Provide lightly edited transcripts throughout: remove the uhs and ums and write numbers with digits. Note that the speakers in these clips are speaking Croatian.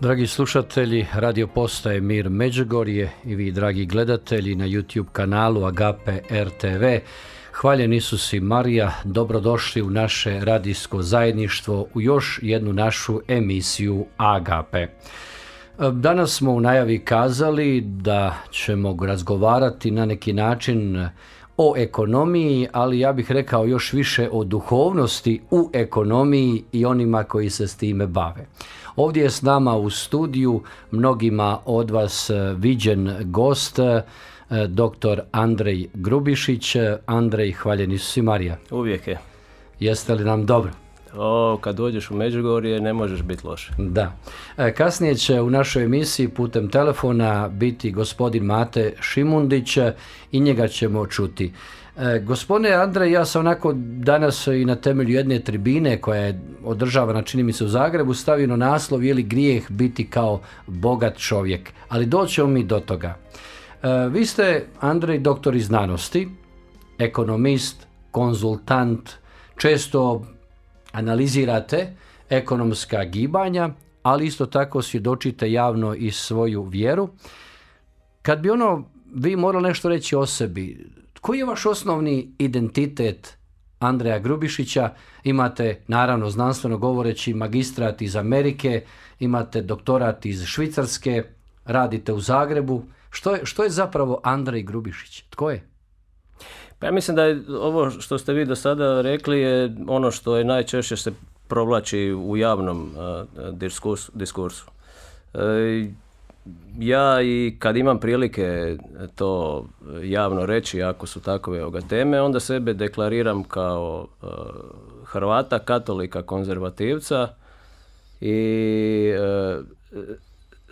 Dragi slušatelji, radio postaje Mir Međugorje i vi dragi gledatelji na YouTube kanalu Agape RTV, hvaljen Isus i Marija, dobrodošli u naše radijsko zajedništvo u još jednu našu emisiju Agape. Danas smo u najavi kazali da ćemo razgovarati na neki način o ekonomiji, ali ja bih rekao još više o duhovnosti u ekonomiji i onima koji se s time bave. Ovdje je s nama u studiju mnogima od vas viđen gost, dr. Andrej Grubišić. Andrej, hvaljen Isus i Marija. Uvijek je. Jeste li nam dobro? Kad dođeš u Međugorje ne možeš biti loš. Da. Kasnije će u našoj emisiji putem telefona biti gospodin Mate Šimundić i njega ćemo čuti. Gospodine Andrej, ja sam onako danas i na temelju jedne tribine koja je održavana, čini mi se, u Zagrebu, stavio na naslov je li grijeh biti kao bogat čovjek, ali doćemo mi do toga. Vi ste, Andrej, doktor iz znanosti, ekonomist, konzultant, često analizirate ekonomska gibanja, ali isto tako svjedočite javno i svoju vjeru. Kad bi vi morali nešto reći o sebi, koji je vaš osnovni identitet Andreja Grubišića? Imate, naravno, znanstveno govoreći, magistrat iz Amerike, imate doktorat iz Švicarske, radite u Zagrebu. Što je zapravo Andrej Grubišić? Tko je? Pa ja mislim da je ovo što ste vi do sada rekli je ono što je najčešće se provlači u javnom diskursu. Ja i kad imam prilike to javno reći, ako su takove teme, onda sebe deklariram kao Hrvata, katolika, konzervativca i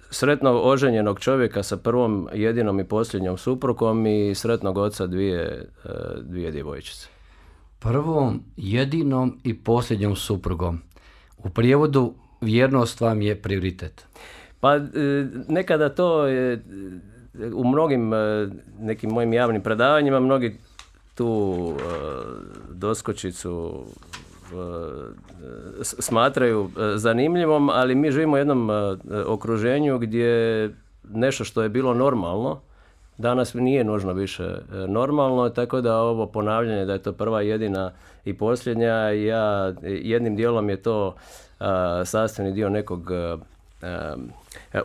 sretno oženjenog čovjeka sa prvom, jedinom i posljednjom suprugom i sretnog oca dvije djevojčice. Prvom, jedinom i posljednjom suprugom. U prijevodu vjernost vam je prioritet. Pa nekada to je u mnogim nekim mojim javnim predavanjima mnogi tu doskočicu smatraju zanimljivom, ali mi živimo u jednom okruženju gdje nešto što je bilo normalno danas nije nužno više normalno, tako da ovo ponavljanje da je to prva, jedina i posljednja, jednim dijelom je to sastavni dio nekog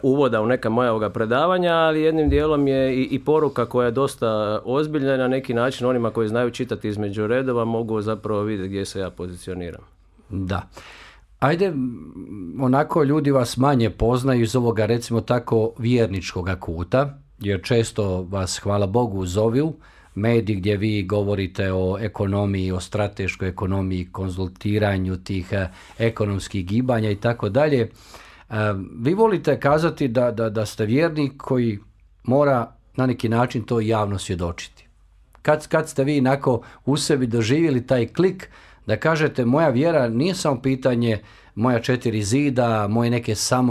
uvoda u neka moja predavanja, ali jednim dijelom je i poruka koja je dosta ozbiljna i na neki način onima koji znaju čitati između redova mogu zapravo vidjeti gdje se ja pozicioniram. Da. Ajde, onako ljudi vas manje poznaju iz ovoga, recimo tako, vjerničkoga kuta, jer često vas, hvala Bogu, zovu mediji gdje vi govorite o ekonomiji, o strateškoj ekonomiji, konzultiranju tih ekonomskih gibanja i tako dalje. Vi volite kazati da ste vjernik koji mora na neki način to javno svjedočiti. Kad ste vi onako u sebi doživjeli taj klik da kažete moja vjera nije samo pitanje moja 4 zida, moje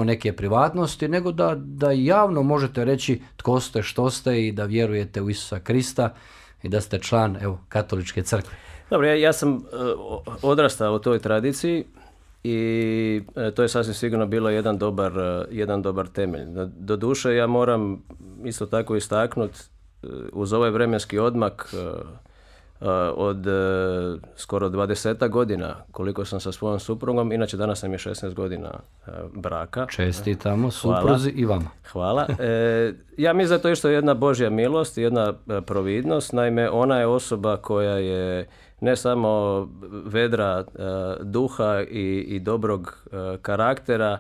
neke privatnosti, nego da javno možete reći tko ste, što ste i da vjerujete u Isusa Krista i da ste član katoličke crkve. Dobro, ja sam odrastao u toj tradiciji i to je sasvim sigurno bilo jedan dobar temelj. Doduše, ja moram isto tako istaknuti uz ovaj vremenski odmak od skoro 20 godina koliko sam sa svojom suprugom, inače danas nam je 16 godina braka. Čestitamo supruzi i vama. Hvala. Ja mislim da to isto jedna Božja milost, jedna providnost. Naime, ona je osoba koja je ne samo vedra duha i dobrog karaktera,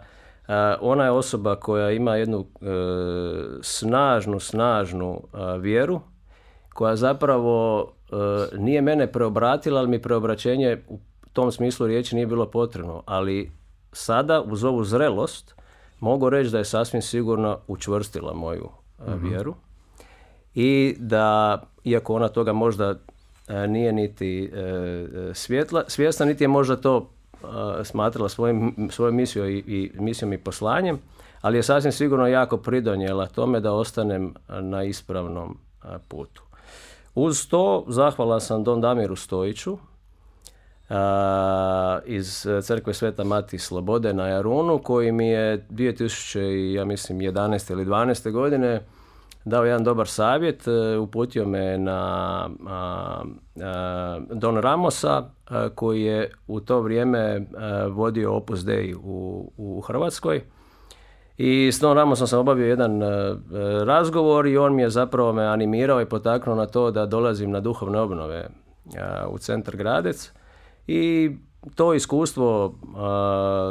ona je osoba koja ima jednu snažnu vjeru, koja zapravo nije mene preobratila, ali mi preobraćenje u tom smislu riječi nije bilo potrebno. Ali sada, uz ovu zrelost, mogu reći da je sasvim sigurno učvrstila moju vjeru i da, iako ona toga možda nije niti svjesna, niti je možda to smatrala svojom misijom i poslanjem, ali je sasvim sigurno jako pridonijela tome da ostanem na ispravnom putu. Uz to zahvalan sam Don Damiru Stojiću iz crkve Sveta Mati Slobode na Jarunu, koji mi je 2011. ili 12. godine dao jedan dobar savjet, uputio me na Don Ramosa, koji je u to vrijeme vodio Opus Dei u Hrvatskoj. I s Don Ramosom sam obavio jedan razgovor i on mi je zapravo me animirao i potaknuo na to da dolazim na duhovne obnove u centar Gradec. I to iskustvo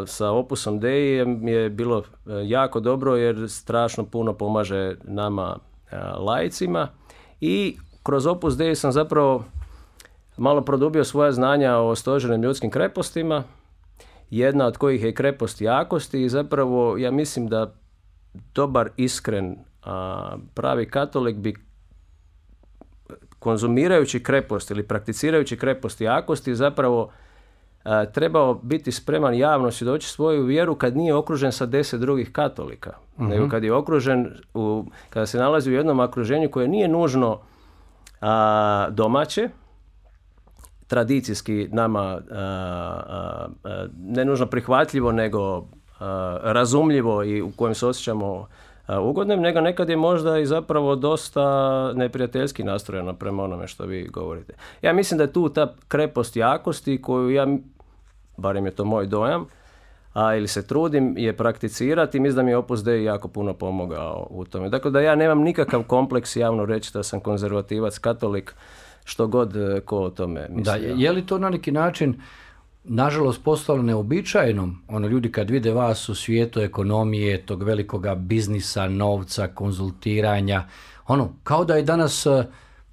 sa Opusom Dei je bilo jako dobro, jer strašno puno pomaže nama laicima, i kroz Opus Dei sam zapravo malo produbio svoja znanja o stožernim ljudskim krepostima, jedna od kojih je krepost jakosti, i zapravo ja mislim da dobar, iskren, pravi katolik bi, konzumirajući krepost ili prakticirajući krepost jakosti, zapravo trebao biti spreman javno svjedočiti svoju vjeru kad nije okružen sa 10 drugih katolika, nego kad je okružen, kada se nalazi u jednom okruženju koje nije nužno domaće, tradicijski nama ne nužno prihvatljivo, nego razumljivo i u kojem se osjećamo ugodnim, nego nekad je možda i zapravo dosta neprijateljski nastrojeno prema onome što vi govorite. Ja mislim da je tu ta krepost jakosti koju ja, barem je to moj dojam, ili se trudim je prakticirati, mislim da mi je Opus Dei jako puno pomogao u tome. Dakle, da ja nemam nikakav kompleks javno reći da sam konzervativac, katolik, što god ko o tome misli. Da, je li to na neki način nažalost postalo neobičajeno, ljudi kad vide vas u svijetu ekonomije, tog velikoga biznisa, novca, konzultiranja, kao da je danas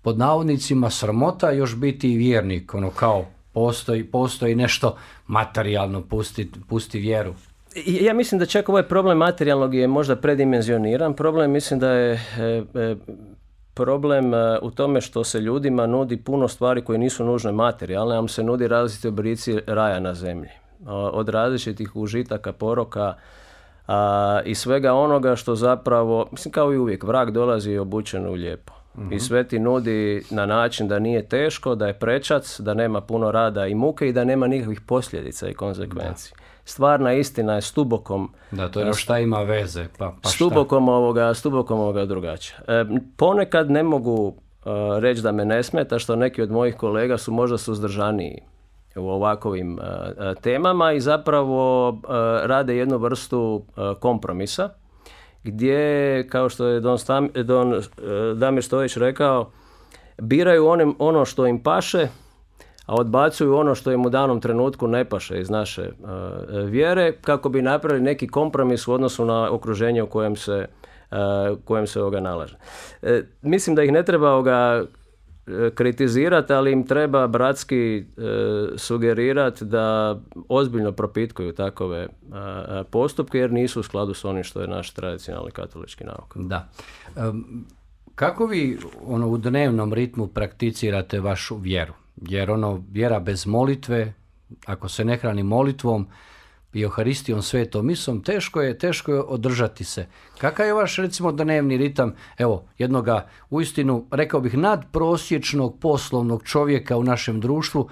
pod navodnicima sramota još biti vjernik, kao postoji nešto materijalno, pusti vjeru. Ja mislim da čak ovaj problem materijalnog je možda predimenzioniran. Problem, mislim da je problem u tome što se ljudima nudi puno stvari koje nisu nužne materijalne, ali se nudi različiti oblici raja na zemlji. Od različitih užitaka, poroka i svega onoga što zapravo, mislim kao i uvijek, vrag dolazi obučen u lijepo. I sve ti nudi na način da nije teško, da je prečac, da nema puno rada i muke i da nema nikakvih posljedica i konsekvenci. Stvarna istina je stubokom... Da, to je šta ima veze, pa stubokom ovoga drugačija. Ponekad ne mogu reći da me ne smeta što neki od mojih kolega su možda suzdržaniji u ovakvim temama i zapravo rade jednu vrstu kompromisa, gdje, kao što je Don Damir Stojić rekao, biraju ono što im paše, a odbacuju ono što im u danom trenutku ne paše iz naše vjere, kako bi napravili neki kompromis u odnosu na okruženje u kojem se ovoga nalaže. Mislim da ih ne treba kritizirati, ali im treba bratski sugerirati da ozbiljno propitkuju takove postupke, jer nisu u skladu s onim što je naš tradicionalni katolički nauk. Da. Kako vi u dnevnom ritmu prakticirate vašu vjeru? Jer vjera bez molitve, ako se ne hrani molitvom i Euharistijom, svetom misom, teško je održati se. Kakav je vaš, recimo, dnevni ritam, jednoga uistinu, rekao bih, nadprosječnog poslovnog čovjeka u našem društvu?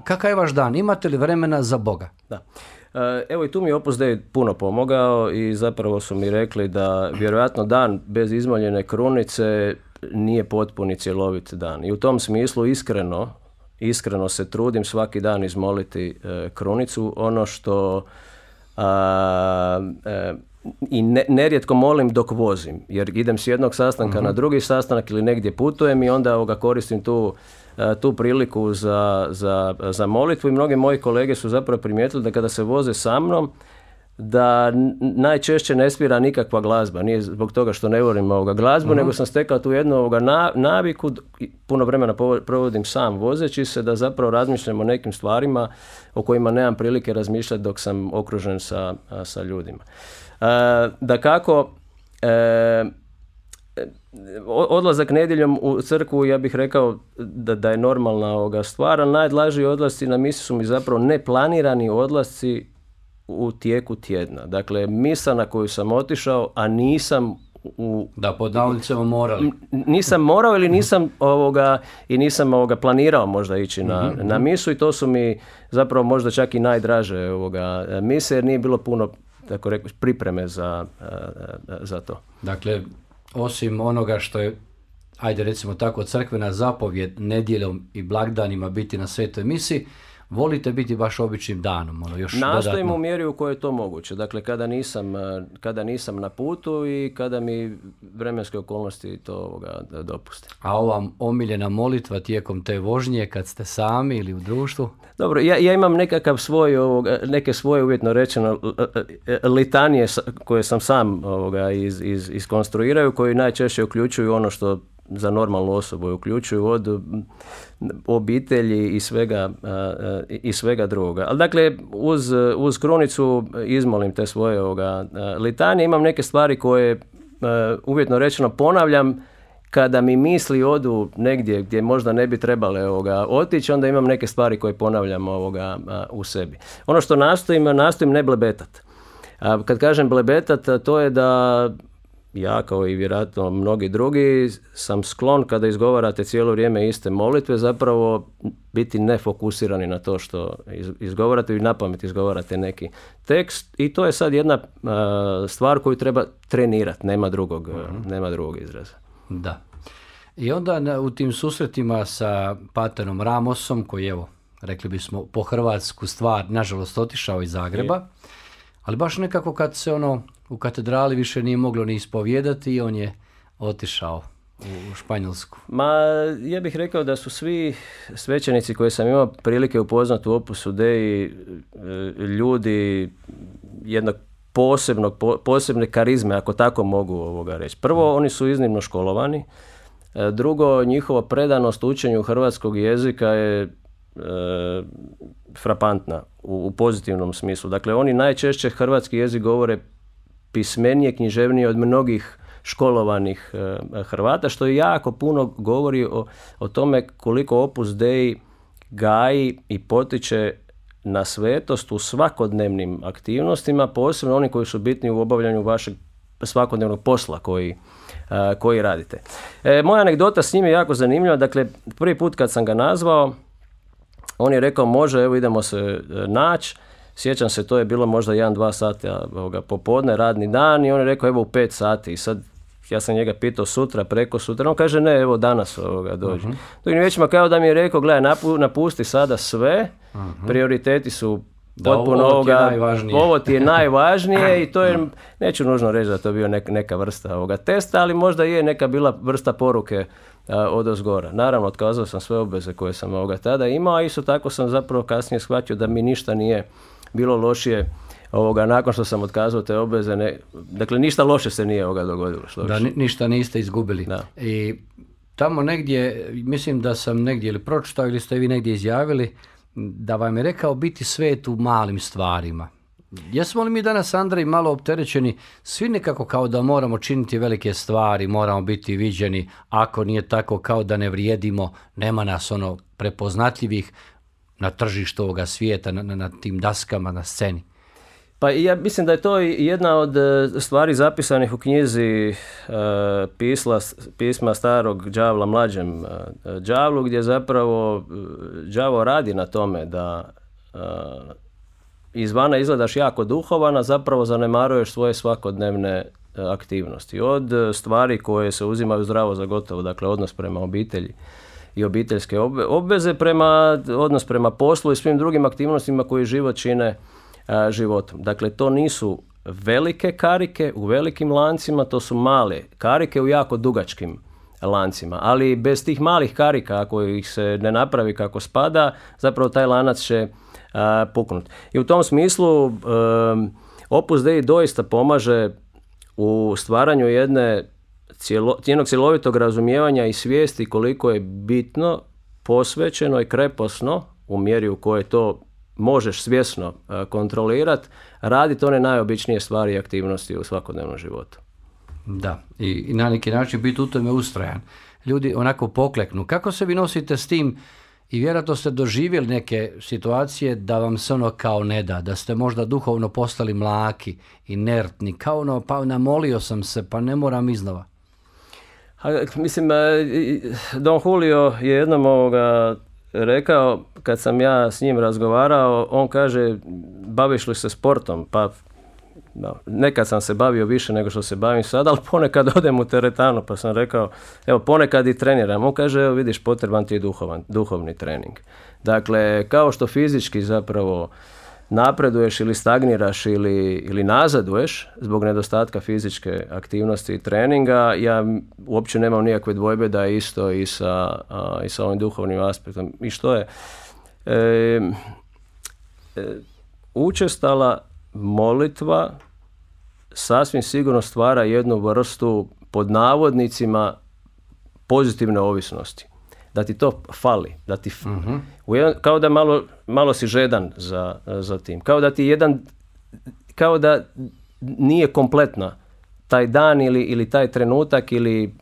Kakav je vaš dan? Imate li vremena za Boga? Da. Evo, i tu mi je Opus Dei puno pomogao i zapravo su mi rekli da vjerojatno dan bez izmoljene krunice nije potpuni cjelovit dan. I u tom smislu iskreno se trudim svaki dan izmoliti krunicu. Ono što i nerijetko molim dok vozim, jer idem s jednog sastanka na drugi sastanak ili negdje putujem i onda koristim tu priliku za molitvu. I mnogi moji kolege su zapravo primijetili da kada se voze sa mnom, da najčešće ne svira nikakva glazba. Nije zbog toga što ne volim glazbu, nego sam stekao tu jednu naviku, puno vremena provodim sam vozeći se, da zapravo razmišljam o nekim stvarima o kojima nemam prilike razmišljati dok sam okružen sa ljudima. Dakako, odlazak nedjeljom u crkvu, ja bih rekao da je normalna stvar, ali najlažiji odlasci na misu su mi zapravo neplanirani odlasci u tijeku tjedna. Dakle, misa na koju sam otišao, a nisam Da, pod navodnicama morali. Nisam morao ili nisam planirao možda ići na misu i to su mi zapravo možda čak i najdraže mise jer nije bilo puno, tako rekao, pripreme za to. Dakle, osim onoga što je, ajde recimo tako, crkvena zapovjed nedjeljom i blagdanima biti na svetoj misi, volite biti baš običnim danom? Još nastojim dodatno. u mjeri u kojoj je to moguće. Dakle, kada nisam na putu i kada mi vremenske okolnosti to dopuste. A ova omiljena molitva tijekom te vožnje kad ste sami ili u društvu? Dobro, ja imam nekakav neke svoje uvjetno rečeno litanije koje sam sam iskonstruiraju, koji najčešće uključuju ono što za normalnu osobu uključuju od obitelji i svega drugoga. Ali dakle, uz krunicu izmolim te svoje litanije. Imam neke stvari koje uvjetno rečeno ponavljam kada mi misli odu negdje gdje možda ne bi trebale otići, onda imam neke stvari koje ponavljam u sebi. Ono što nastojim ne blebetat. Kad kažem blebetat, to je da ja, kao i vjerojatno mnogi drugi, sam sklon kada izgovarate cijelo vrijeme iste molitve zapravo biti nefokusirani na to što izgovarate i napamet izgovarate neki tekst i to je sad jedna stvar koju treba trenirati, nema drugog izraza. Da. I onda u tim susretima sa paterom Ramosom, koji evo, rekli bismo po hrvatsku stvar, nažalost otišao iz Zagreba, ali baš nekako kad se u katedrali više nije moglo ni ispovijedati i on je otišao u Španjolsku. Ma, ja bih rekao da su svi svećenici koje sam imao prilike upoznati u Opusu Dei ljudi jednog posebne karizme, ako tako mogu reći. Prvo, oni su iznimno školovani. Drugo, njihova predanost učenju hrvatskog jezika je frapantna u pozitivnom smislu. Dakle, oni najčešće hrvatski jezik govore pismenije, književnije od mnogih školovanih Hrvata, što jako puno govori o tome koliko Opus Dei gaji i potiče na svetost u svakodnevnim aktivnostima, posebno oni koji su bitni u obavljanju vašeg svakodnevnog posla koji radite. Moja anegdota s njim je jako zanimljiva. Dakle, prvi put kad sam ga nazvao, on je rekao može, evo idemo se naći. Sjećam se, to je bilo možda 1-2 sata popodne, radni dan i on je rekao evo u 5 sati i sad ja sam njega pitao sutra, preko sutra, on kaže ne, evo danas dođi. Drugim riječima kao da mi je rekao, gledaj, napusti sada sve, prioriteti su potpuno ovo ti je najvažnije i to je, neću nužno reći da to bio neka vrsta testa, ali možda je neka bila vrsta poruke odozgora. Naravno, otkazao sam sve obveze koje sam tada imao, a isto tako sam zapravo kasnije shvatio da mi ništa nije bilo lošije nakon što sam otkazao te obveze. Dakle, ništa loše se nije dogodilo. Da, ništa niste izgubili. Da. I tamo negdje, mislim da sam negdje ili pročitao ili ste vi negdje izjavili da vam je rekao biti svet u malim stvarima. Jesmo li mi danas, Andrej, malo opterećeni svi nekako kao da moramo činiti velike stvari, moramo biti viđeni, ako nije tako kao da ne vrijedimo, nema nas prepoznatljivih na tržištu ovoga svijeta, na tim daskama, na sceni? Pa ja mislim da je to jedna od stvari zapisanih u knjizi pisma starog đavla mlađem đavlu, gdje zapravo đavo radi na tome da izvana izgledaš jako duhovan, a zapravo zanemaruješ svoje svakodnevne aktivnosti. Od stvari koje se uzimaju zdravo za gotovo, dakle odnos prema obitelji i obiteljske obveze, odnos prema poslu i svim drugim aktivnostima koji život čine životom. Dakle, to nisu velike karike u velikim lancima, to su male karike u jako dugačkim lancima. Ali bez tih malih karika, ako ih se ne napravi kako spada, zapravo taj lanac će puknuti. I u tom smislu Opus Dei doista pomaže u stvaranju jednog cjelovitog razumijevanja i svijesti koliko je bitno, posvećeno i kreposno, u mjeri u kojoj to možeš svjesno kontrolirati, raditi one najobičnije stvari i aktivnosti u svakodnevnom životu. Da, i na neki način biti u tome ustrajan. Ljudi onako pokleknu. Kako se vi nosite s tim? i vjerojatno ste doživjeli neke situacije da vam se ono kao ne da, da ste možda duhovno postali mlaki, inertni, kao ono, pa namolio sam se, pa ne moram iznova. Mislim, Don Julio je jednom rekao, kad sam ja s njim razgovarao, on kaže, baviš li se sportom? Pa nekad sam se bavio više nego što se bavim sada, ali ponekad odem u teretanu, pa sam rekao, evo, ponekad i treniram. On kaže, evo vidiš, potreban ti je duhovni trening. Dakle, kao što fizički zapravo napreduješ ili stagniraš ili nazaduješ zbog nedostatka fizičke aktivnosti i treninga, ja uopće nemam nikakve dvojbe da je isto i sa ovim duhovnim aspektom. I što je? Učestala molitva sasvim sigurno stvara jednu vrstu, pod navodnicima, pozitivne ovisnosti. Da ti to fali, da ti kao da malo si žedan za tim. Kao da nije kompletna taj dan ili taj trenutak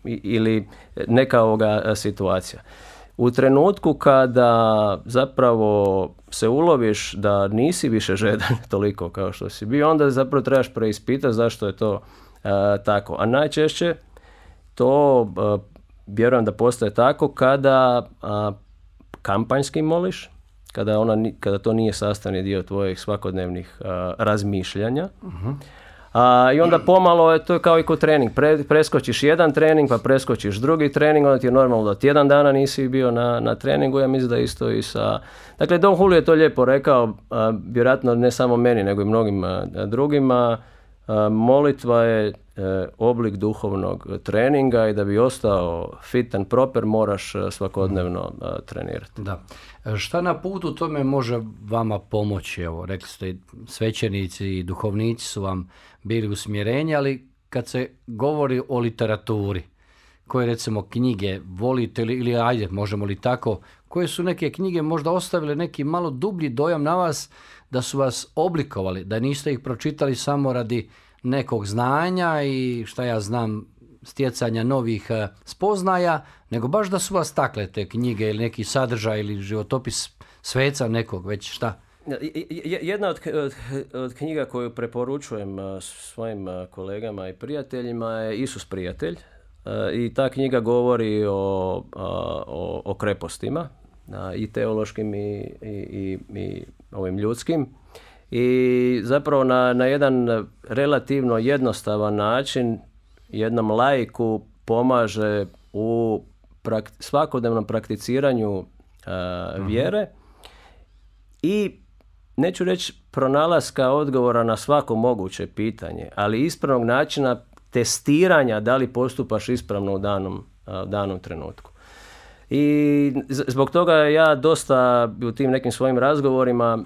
ili neka situacija. U trenutku kada zapravo se uloviš da nisi više žedan toliko kao što si bio, onda zapravo trebaš preispitati zašto je to tako. A najčešće to vjerujem da postaje tako kada kampanjski moliš, kada to nije sastavni dio tvojih svakodnevnih razmišljanja. I onda pomalo to je kao i kod trening. Preskočiš jedan trening, pa preskočiš drugi trening, onda ti je normalno da tjedan dana nisi bio na treningu. Ja mislim da isto i sa... Dakle, Don Julio je to lijepo rekao, vjerojatno ne samo meni, nego i mnogim drugima. Molitva je oblik duhovnog treninga i da bi ostao fit and proper moraš svakodnevno trenirati. Da. Šta na putu tome može vama pomoći? Evo, rekli ste, svećenici i duhovnici su vam bili usmjerenje, ali kad se govori o literaturi, koje recimo knjige volite ili ajde, možemo li tako, koje su neke knjige možda ostavile neki malo dublji dojam na vas, da su vas oblikovali, da niste ih pročitali samo radi nekog znanja i šta ja znam, stjecanja novih spoznaja, nego baš da su vas takle te knjige ili neki sadržaj ili životopis sveca nekog, već šta? Jedna od knjiga koju preporučujem svojim kolegama i prijateljima je Isus prijatelj. I ta knjiga govori o krepostima, i teološkim i ovim ljudskim. I zapravo na jedan relativno jednostavan način jednom laiku pomaže u svakodnevnom prakticiranju vjere i neću reći pronalaska odgovora na svako moguće pitanje, ali ispravnog načina testiranja da li postupaš ispravno u danom trenutku. I zbog toga ja dosta u tim nekim svojim razgovorima,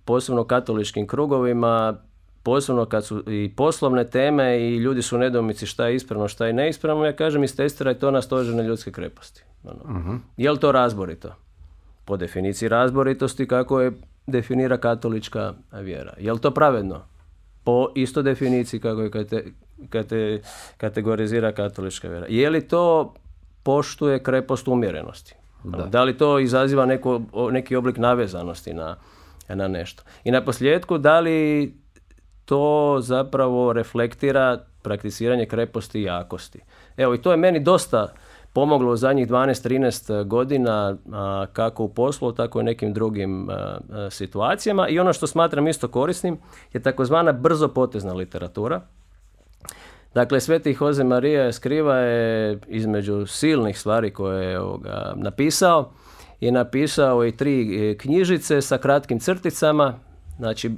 posebno katoličkim krugovima, posebno kad su i poslovne teme i ljudi su u nedoumici šta je ispravno, šta je neispravno, ja kažem istestiraj to na stožerne ljudske kreposti. Je li to razborito? Po definiciji razboritosti kako je definira katolička vjera. Je li to pravedno? Po isto definiciji kako je kategorizira katolička vjera. Je li to poštuje krepost umjerenosti? Da li to izaziva neki oblik navezanosti na nešto? I na posljedku, da li to zapravo reflektira prakticiranje kreposti i jakosti? Evo, i to je meni dosta pomoglo u zadnjih 12-13 godina, kako u poslu, tako i nekim drugim situacijama. I ono što smatram isto korisnim je takozvana brzopotezna literatura. Dakle, Sveti Jose Maria Escriva je između silnih stvari koje je napisao i 3 knjižice sa kratkim crticama, znači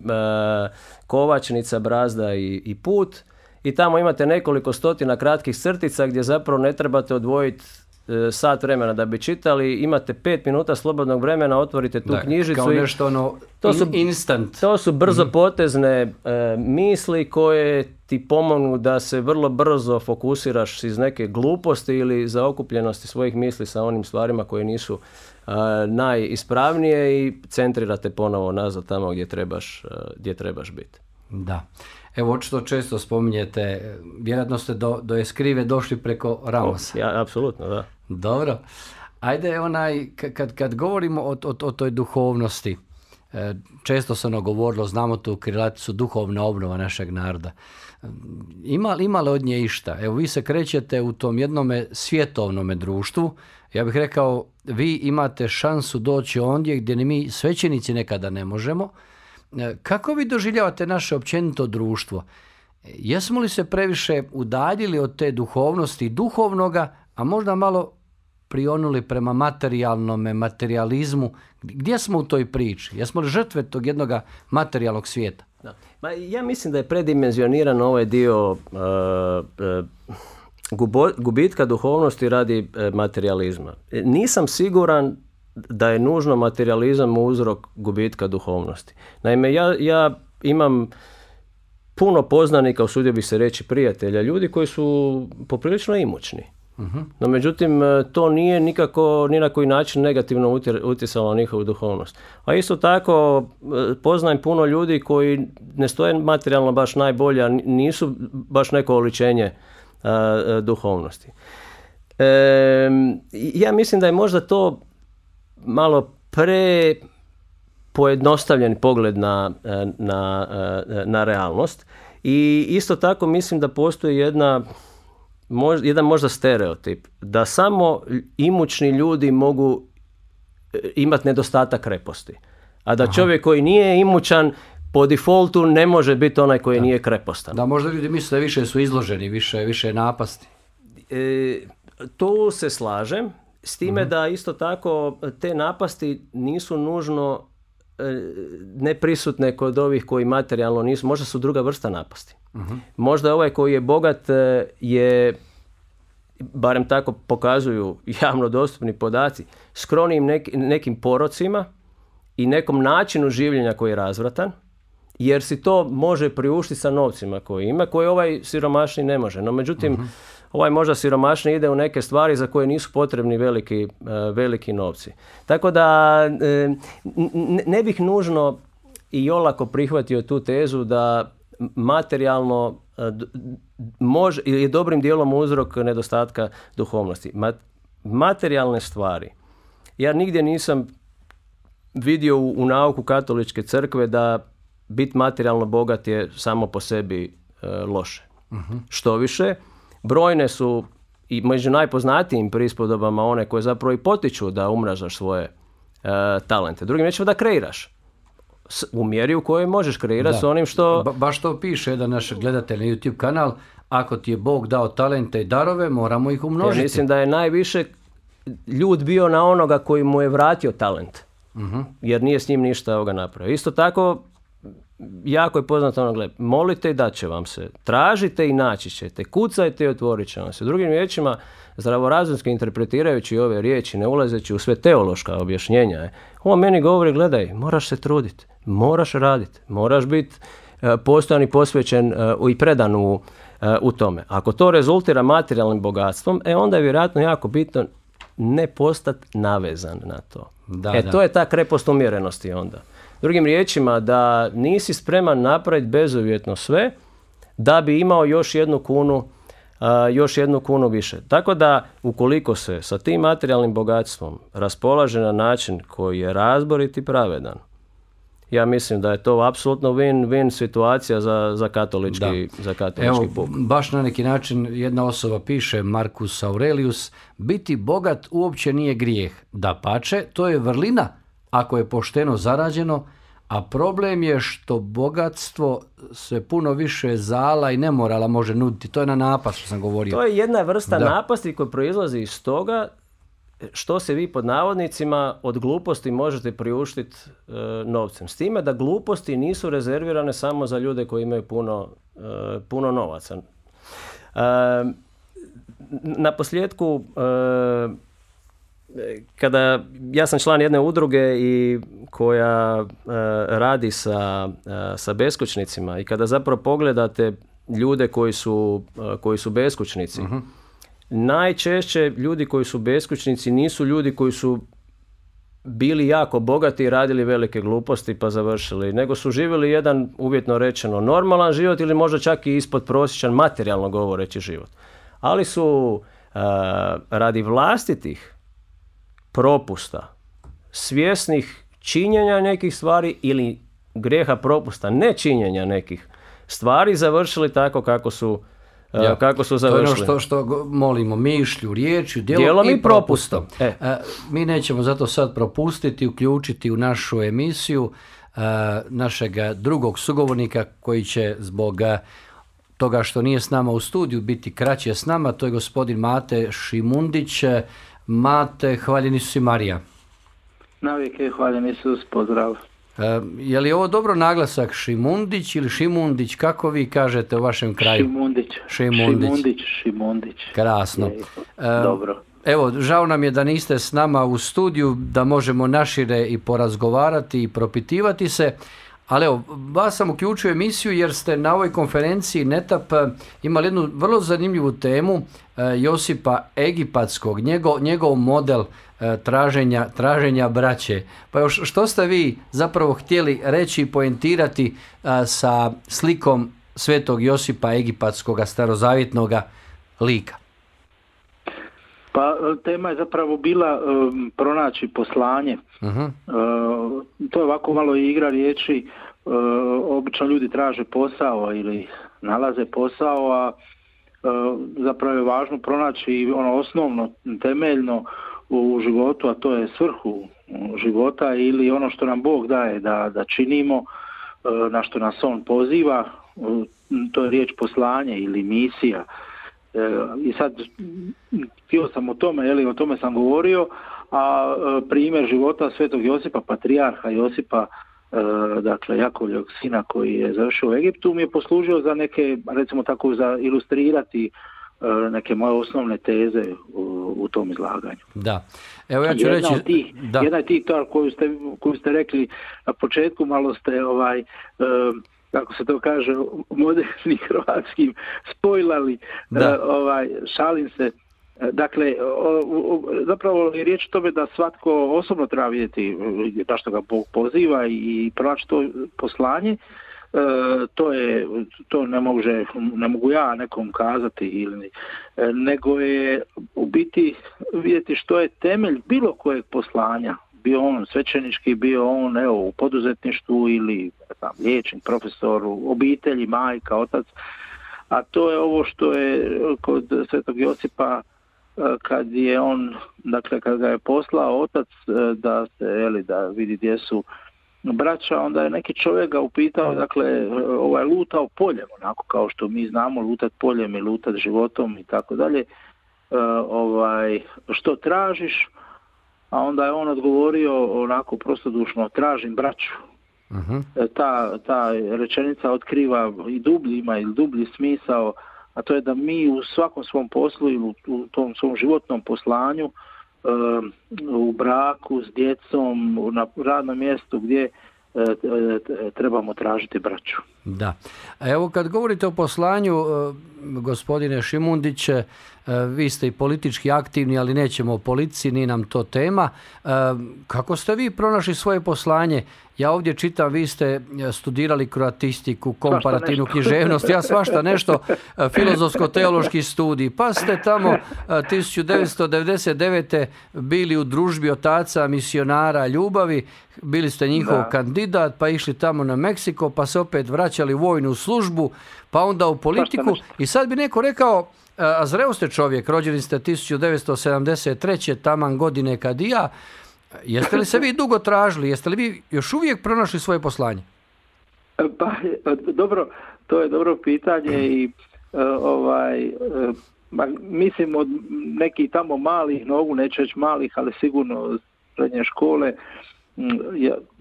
Kovačnica, Brazda i Put. I tamo imate nekoliko stotina kratkih crtica gdje zapravo ne trebate odvojiti sat vremena da bi čitali, imate 5 minuta slobodnog vremena, otvorite tu knjižicu. Kao nešto instant. To su brzopotezne misli koje ti pomognu da se vrlo brzo fokusiraš iz neke gluposti ili zaokupljenosti svojih misli sa onim stvarima koje nisu najispravnije i centrirate ponovo nazad tamo gdje trebaš biti. Da. Evo, očito često spominjete, vjerojatno ste do Escrive došli preko Ramosa. Ja, apsolutno, da. Dobro. Ajde, kad govorimo o toj duhovnosti, često se govorilo, znamo tu krilaticu duhovna obnova našeg naroda. Ima li od nje išta? Evo, vi se krećete u tom jednome svjetovnome društvu. Ja bih rekao, vi imate šansu doći ondje gdje ni mi svećenici nekada ne možemo. Kako vi doživljavate naše općenito društvo? Jesmo li se previše udaljili od te duhovnosti duhovnoga, a možda malo prionuli prema materializmu? Gdje smo u toj priči? Jesmo li žrtve tog jednog materijalnog svijeta? Da. Ja mislim da je predimenzioniran ovaj dio gubitka duhovnosti radi materijalizma. Nisam siguran da je nužno materijalizam uzrok gubitka duhovnosti. Naime, ja imam puno poznanika, usudio bih se reći prijatelja, ljudi koji su poprilično imućni. No, međutim, to nije nikako, ni na koji način negativno utjecalo na njihovu duhovnost. A isto tako, poznajem puno ljudi koji ne stoje materijalno baš najbolje, a nisu baš neko oličenje duhovnosti. Ja mislim da je možda to malo pojednostavljen pogled na realnost. I isto tako mislim da postoji jedan možda stereotip, da samo imućni ljudi mogu imati nedostatak kreposti. A da čovjek koji nije imućan po defaultu ne može biti onaj koji nije krepostan. Da, možda ljudi misle da više su izloženi, više napasti. Tu se slažem, s time da isto tako te napasti nisu nužno neprisutne kod ovih koji materijalno nisu, možda su druga vrsta napasti. Možda ovaj koji je bogat je, barem tako pokazuju javno dostupni podaci, skronim nekim porocima i nekom načinu življenja koji je razvratan, jer si to može priuštiti sa novcima koje ima, koje ovaj siromašni ne može. No međutim, ovaj možda siromašni ide u neke stvari za koje nisu potrebni veliki novci. Tako da ne bih nužno i olako prihvatio tu tezu da materijalno je dobrim dijelom uzrok nedostatka duhovnosti. Materijalne stvari. Ja nigdje nisam vidio u nauku katoličke crkve da biti materijalno bogat je samo po sebi loše. Što više, brojne su i među najpoznatijim prispodobama one koje zapravo i potiču da umnažaš svoje talente. Drugim riječima da kreiraš. U mjeri u kojoj možeš kreirati s onim što... Baš to piše jedan naš gledatelj na YouTube kanal. Ako ti je Bog dao talente i darove, moramo ih umnožiti. Ja mislim da je najviše ljud bio na onoga koji mu je vratio talent. Jer nije s njim ništa napravio. Isto tako, jako je poznato ono, molite i dat će vam se. Tražite i naći ćete. Kucajte i otvorit će vam se. Drugim riječima, zdravorazumski interpretirajući ove riječi, ne ulazeći u sve teološka objašnjenja, on meni govori, gledaj, moraš se truditi, moraš raditi, moraš biti postojan i posvećen i predan u tome. Ako to rezultira materijalnim bogatstvom, onda je vjerojatno jako bitno ne postati navezan na to. To je ta krepost umjerenosti onda. Drugim riječima, da nisi spreman napraviti bezuvjetno sve da bi imao još jednu kunu više. Tako da, ukoliko se sa tim materijalnim bogatstvom raspolaže na način koji je razborit i pravedan, ja mislim da je to apsolutno win-win situacija za katolički puk. Baš na neki način jedna osoba piše, Marcus Aurelius, biti bogat uopće nije grijeh. Dapače, to je vrlina ako je pošteno zarađeno, a problem je što bogatstvo se puno više zala i nemorala može nuditi. To je na napast što sam govorio. To je jedna vrsta napasti koja proizlazi iz toga što se vi pod navodnicima od gluposti možete priuštiti novcem. S time da gluposti nisu rezervirane samo za ljude koji imaju puno novaca. Na posljedku, ja sam član jedne udruge i koja radi sa beskućnicima i kada zapravo pogledate ljude koji su beskućnici, najčešće ljudi koji su beskućnici nisu ljudi koji su bili jako bogati i radili velike gluposti pa završili, nego su živjeli jedan, uvjetno rečeno, normalan život ili možda čak i ispod prosječan, materijalno govoreći život. Ali su radi vlastitih propusta, svjesnih činjenja nekih stvari ili grijeha propusta, nečinjenja nekih stvari završili tako kako su završili. To je ono što molimo, mišlju, riječju, djelom i propustom. Mi nećemo zato sad propustiti, uključiti u našu emisiju našeg drugog sugovornika koji će zbog toga što nije s nama u studiju biti kraće s nama, to je gospodin Mate Šimundić. Mate, hvaljen Isus i Marija. Navijek, hvaljen Isus, pozdrav. Je li ovo dobro naglasak Šimundić ili Šimundić, kako vi kažete u vašem kraju? Šimundić. Krasno. Dobro. Evo, žao nam je da niste s nama u studiju, da možemo našire i porazgovarati i propitivati se, ali evo, vas sam uključio emisiju jer ste na ovoj konferenciji NETAP imali jednu vrlo zanimljivu temu Josipa Egipatskog, njegov model traženja braće. Pa još što ste vi zapravo htjeli reći i poentirati sa slikom svetog Josipa Egipatskog starozavjetnog lika? Pa tema je zapravo bila pronaći poslanje. To je ovako malo igra riječi. Obično ljudi traže posao ili nalaze posao, a zapravo je važno pronaći ono osnovno, temeljno u životu, a to je svrhu života ili ono što nam Bog daje da činimo, na što nas On poziva. To je riječ poslanje ili misija. I sad htio sam o tome, o tome sam govorio, a primjer života svetog Josipa, patrijarha Josipa, dakle Jakovljevog sina koji je završio u Egiptu, mi je poslužio za neke, recimo tako, za ilustrirati neke moje osnovne teze u tom izlaganju. Da. Evo ja ću reći... Jedna je tih koju ste rekli na početku, malo ste kako se to kaže, modernim hrvatskim spojlali, šalim se. Dakle, zapravo je riječ o tome da svatko osobno treba vidjeti na što ga Bog poziva i pronaći to poslanje. To ne mogu ja nekom kazati, nego je u biti vidjeti što je temelj bilo kojeg poslanja. Bio on svećenički, bio on u poduzetništvu ili liječnik, profesor, u obitelji, majka, otac. A to je ovo što je kod svetog Josipa, kad je on, dakle kad ga je poslao otac da vidi gdje su braća, onda je neki čovjek ga upitao, dakle lutao poljem, onako kao što mi znamo lutat poljem i lutat životom i tako dalje, što tražiš? A onda je on odgovorio onako prostodušno, tražim braću. Ta rečenica otkriva ima dublji smisao, a to je da mi u svakom svom poslu ili u tom svom životnom poslanju, u braku, s djecom, na radnom mjestu gdje trebamo tražiti braću. Da. Evo kad govorite o poslanju, gospodine Šimundić, vi ste i politički aktivni, ali nećemo o politici, nije nam to tema. Kako ste vi pronašli svoje poslanje? Ja ovdje čitam, vi ste studirali kroatistiku, komparativnu književnost, ja svašta nešto, filozofsko-teološki studij, pa ste tamo 1999. bili u družbi otaca misionara ljubavi, bili ste njihov kandidat, pa išli tamo na Meksiko, pa se opet vraćali u vojnu službu, pa onda u politiku. I sad bi neko rekao, a zreo ste čovjek, rođeni ste 1973. taman godine kad i ja. Jeste li se vi dugo tražili? Jeste li vi još uvijek pronašli svoje poslanje? Pa, dobro, to je dobro pitanje i mislim od nekih tamo malih nogu, neću reći malih, ali sigurno srednje škole,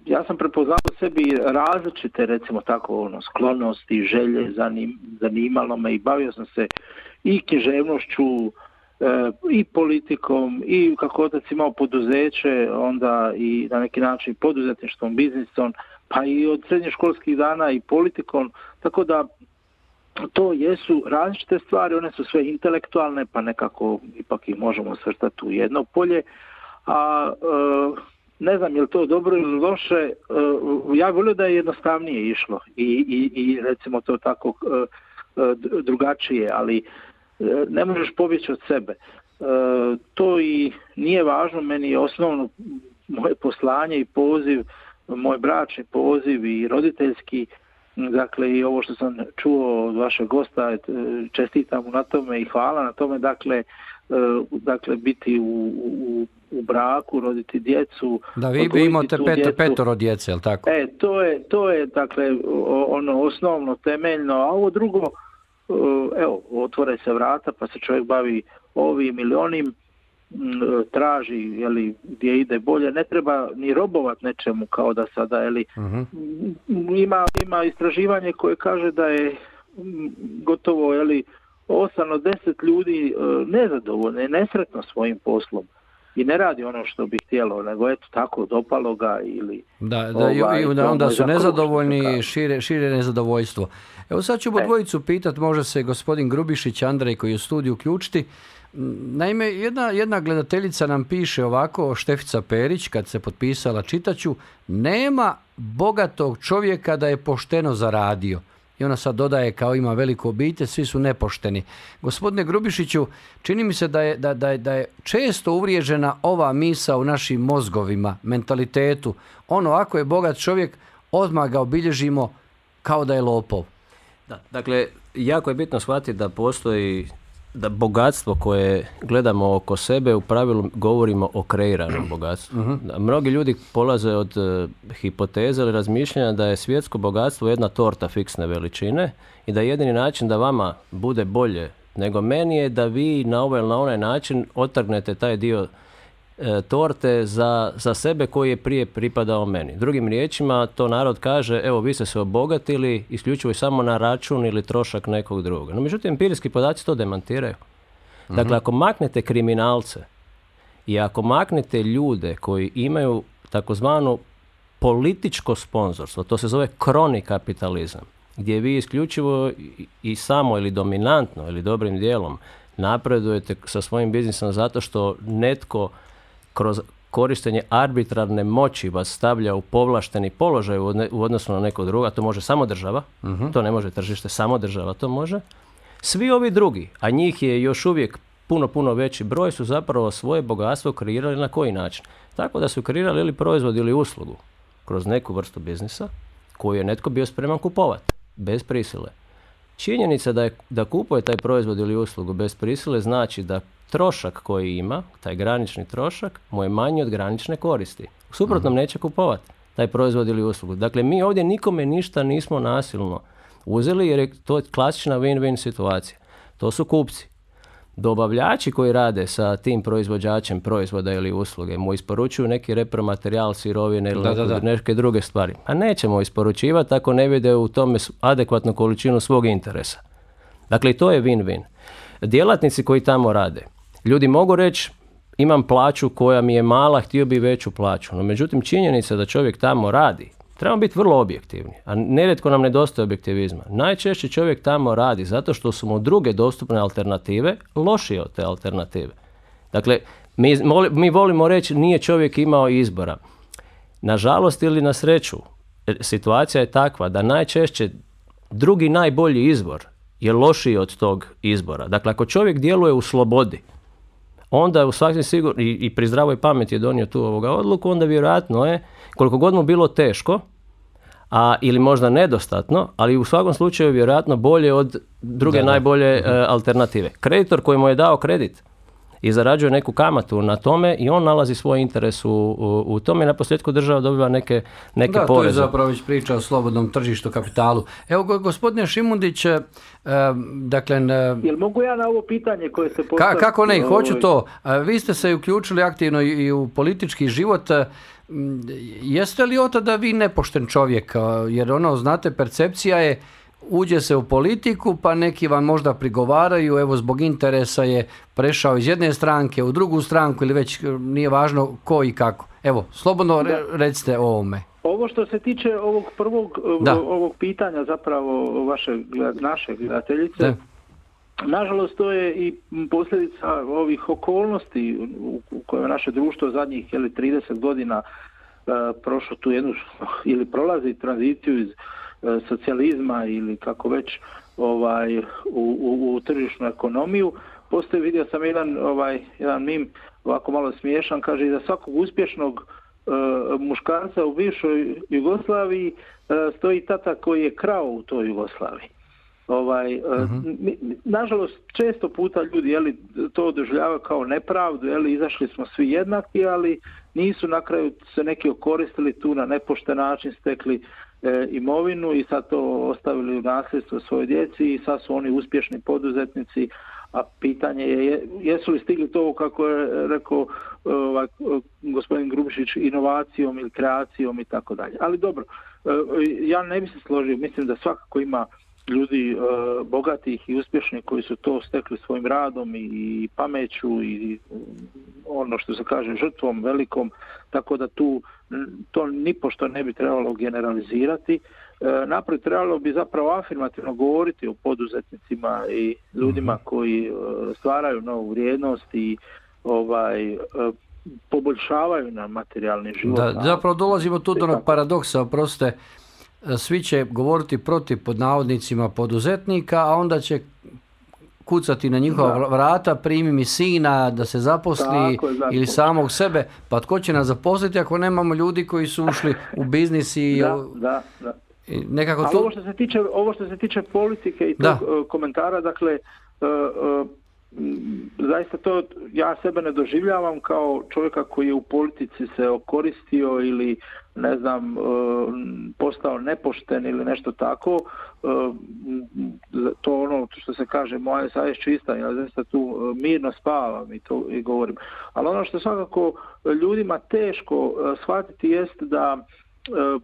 ja sam prepoznao sebi različite, recimo tako, sklonosti, želje, zanimalo me i bavio sam se i književnošću, i politikom, i kako otac imao poduzeće, onda i na neki način poduzetništvom, biznisom, pa i od srednjoškolskih dana i politikom, tako da to jesu različite stvari, one su sve intelektualne, pa nekako ipak ih možemo svrstati u jedno polje, a ne znam je li to dobro ili loše, ja volio da je jednostavnije išlo i recimo to tako drugačije, ali ne možeš pobjeći od sebe. to i nije važno, meni je osnovno moje poslanje i poziv, moj bračni poziv i roditeljski, dakle i ovo što sam čuo od vašeg gosta, čestitam mu na tome i hvala na tome, dakle biti u braku, roditi djecu. Da, vi imate petoro djece, je li tako? To je dakle ono osnovno, temeljno, a ovo drugo, evo, otvore se vrata pa se čovjek bavi ovim ili onim, traži, jeli, gdje ide bolje, ne treba ni robovat nečemu kao da sada, jeli, ima istraživanje koje kaže da je gotovo, jeli, 8 od 10 ljudi nezadovoljno i nesretno svojim poslom i ne radi ono što bi htjelo, nego eto tako, dopalo ga ili... onda su nezadovoljni i šire nezadovoljstvo. Evo sad ću dvojicu pitati, može se gospodin Grubišić, Andrej koji je u studiju uključiti. Naime, jedna gledateljica nam piše ovako, Štefica Perić, kad se potpisala, čitaću, nema bogatog čovjeka da je pošteno zaradio. I ona sad dodaje, kao ima veliku obitelj, svi su nepošteni. Gospodine Grubišiću, čini mi se da je često uvriježena ova misao u našim mozgovima, mentalitetu. Ono, ako je bogat čovjek, odmah ga obilježimo kao da je lopov. Da, dakle, jako je bitno shvatiti da postoji, da bogatstvo koje gledamo oko sebe, u pravilu govorimo o kreiranom bogatstvu. Da, mnogi ljudi polaze od hipoteze ili razmišljanja da je svjetsko bogatstvo jedna torta fiksne veličine i da jedini način da vama bude bolje nego meni je da vi na ovaj ili na onaj način otrgnete taj dio torte za sebe koji je prije pripadao meni. Drugim riječima, to narod kaže, evo vi ste se obogatili isključivo i samo na račun ili trošak nekog druga. No, međutim, empirijski podaci to demantiraju. Dakle, ako maknete kriminalce i ako maknete ljude koji imaju takozvanu političko sponzorstvo, to se zove kroni kapitalizam, gdje vi isključivo i samo ili dominantno ili dobrim dijelom napredujete sa svojim biznisom zato što netko kroz korištenje arbitrarne moći vas stavlja u povlašteni položaj u odnosu na neko drugo, a to može samo država, to ne može tržište, samo država to može. Svi ovi drugi, a njih je još uvijek puno veći broj, su zapravo svoje bogatstvo kreirali na koji način? Tako da su kreirali ili proizvod ili uslugu kroz neku vrstu biznisa koju je netko bio spreman kupovati, bez prisile. Činjenica da kupuje taj proizvod ili uslugu bez prisile znači da trošak koji ima, taj granični trošak, mu je manji od granične koristi. U suprotnom neće kupovati taj proizvod ili uslugu. Dakle, mi ovdje nikome ništa nismo nasilno uzeli jer je to klasična win-win situacija. To su kupci. Dobavljači koji rade sa tim proizvođačem proizvoda ili usluge mu isporučuju neki repromaterijal, sirovine ili neke druge stvari. A nećemo isporučivati ako ne vide u tome adekvatnu količinu svog interesa. Dakle, to je win-win. Djelatnici koji tamo rade, ljudi mogu reći imam plaću koja mi je mala, htio bi veću plaću. No, međutim, činjenica da čovjek tamo radi, trebamo biti vrlo objektivni, a nerijetko nam nedostaje objektivizma. Najčešće čovjek tamo radi zato što su mu druge dostupne alternative lošije od te alternative. Dakle, mi volimo reći nije čovjek imao izbora. Nažalost ili na sreću, situacija je takva da najčešće drugi najbolji izbor je lošiji od tog izbora. Dakle, ako čovjek djeluje u slobodi, onda u svakom sigurno i pri zdravoj pameti je donio tu odluku, onda vjerojatno je, koliko god mu bilo teško, ili možda nedostatno, ali u svakom slučaju vjerojatno bolje od druge najbolje alternative. Kreditor koji mu je dao kredit i zarađuje neku kamatu na tome i on nalazi svoj interes u tome i na posljedku država dobiva neke poreze. To je zapravo već priča o slobodnom tržištu kapitalu. Evo, gospodine Šimundić, dakle... Jel mogu ja na ovo pitanje koje se postavlja? Kako ne, hoću to. Vi ste se uključili aktivno i u politički život. Jeste li od tada vi nepošten čovjek? Jer znate, percepcija je uđe se u politiku, pa neki vam možda prigovaraju, evo zbog interesa je prešao iz jedne stranke u drugu stranku ili već nije važno ko i kako. Evo, slobodno recite o ovome. Ovo što se tiče ovog prvog ovog pitanja zapravo naše gledateljice, nažalost to je i posljedica ovih okolnosti u kojoj naše društvo zadnjih 30 godina prošlo tu jednu ili prolazi tranziciju iz socijalizma ili kako već u tržišnu ekonomiju. Postoji, vidio sam jedan mim, ovako malo smiješan, kaže za svakog uspješnog muškarca u bivšoj Jugoslaviji stoji tata koji je krao u toj Jugoslaviji. Nažalost, često puta ljudi to doživljavaju kao nepravdu, izašli smo svi jednaki, ali nisu na kraju se neki okoristili tu na nepošten način, stekli imovinu i sad to ostavili u nasljedstvo svojoj djeci i sad su oni uspješni poduzetnici, a pitanje je jesu li stigli to, kako je rekao gospodin Grubišić, inovacijom ili kreacijom i tako dalje. Ali dobro, ja ne bi se složio, mislim da svakako ima ljudi bogatih i uspješnih koji su to stekli svojim radom i pameću i ono što se kaže žrtvom velikom, tako da to nipošto ne bi trebalo generalizirati. Naprijed trebalo bi zapravo afirmativno govoriti o poduzetnicima i ljudima koji stvaraju novu vrijednost i poboljšavaju nam materijalni život. Da, zapravo dolazimo tu do onog paradoksa, oprostite, svi će govoriti protiv pod navodnicima poduzetnika, a onda će kucati na njihova vrata, primi mi sina da se zaposli ili samog sebe, pa tko će nas zaposliti ako nemamo ljudi koji su ušli u biznis i... Nekako ali ovo što se tiče politike i tog komentara, dakle, zaista to ja sebe ne doživljavam kao čovjeka koji je u politici se okoristio ili ne znam postao nepošten ili nešto tako. To ono što se kaže moja savjest čista, ja zaista tu mirno spavam i to i govorim. Ali ono što svakako ljudima teško shvatiti jest da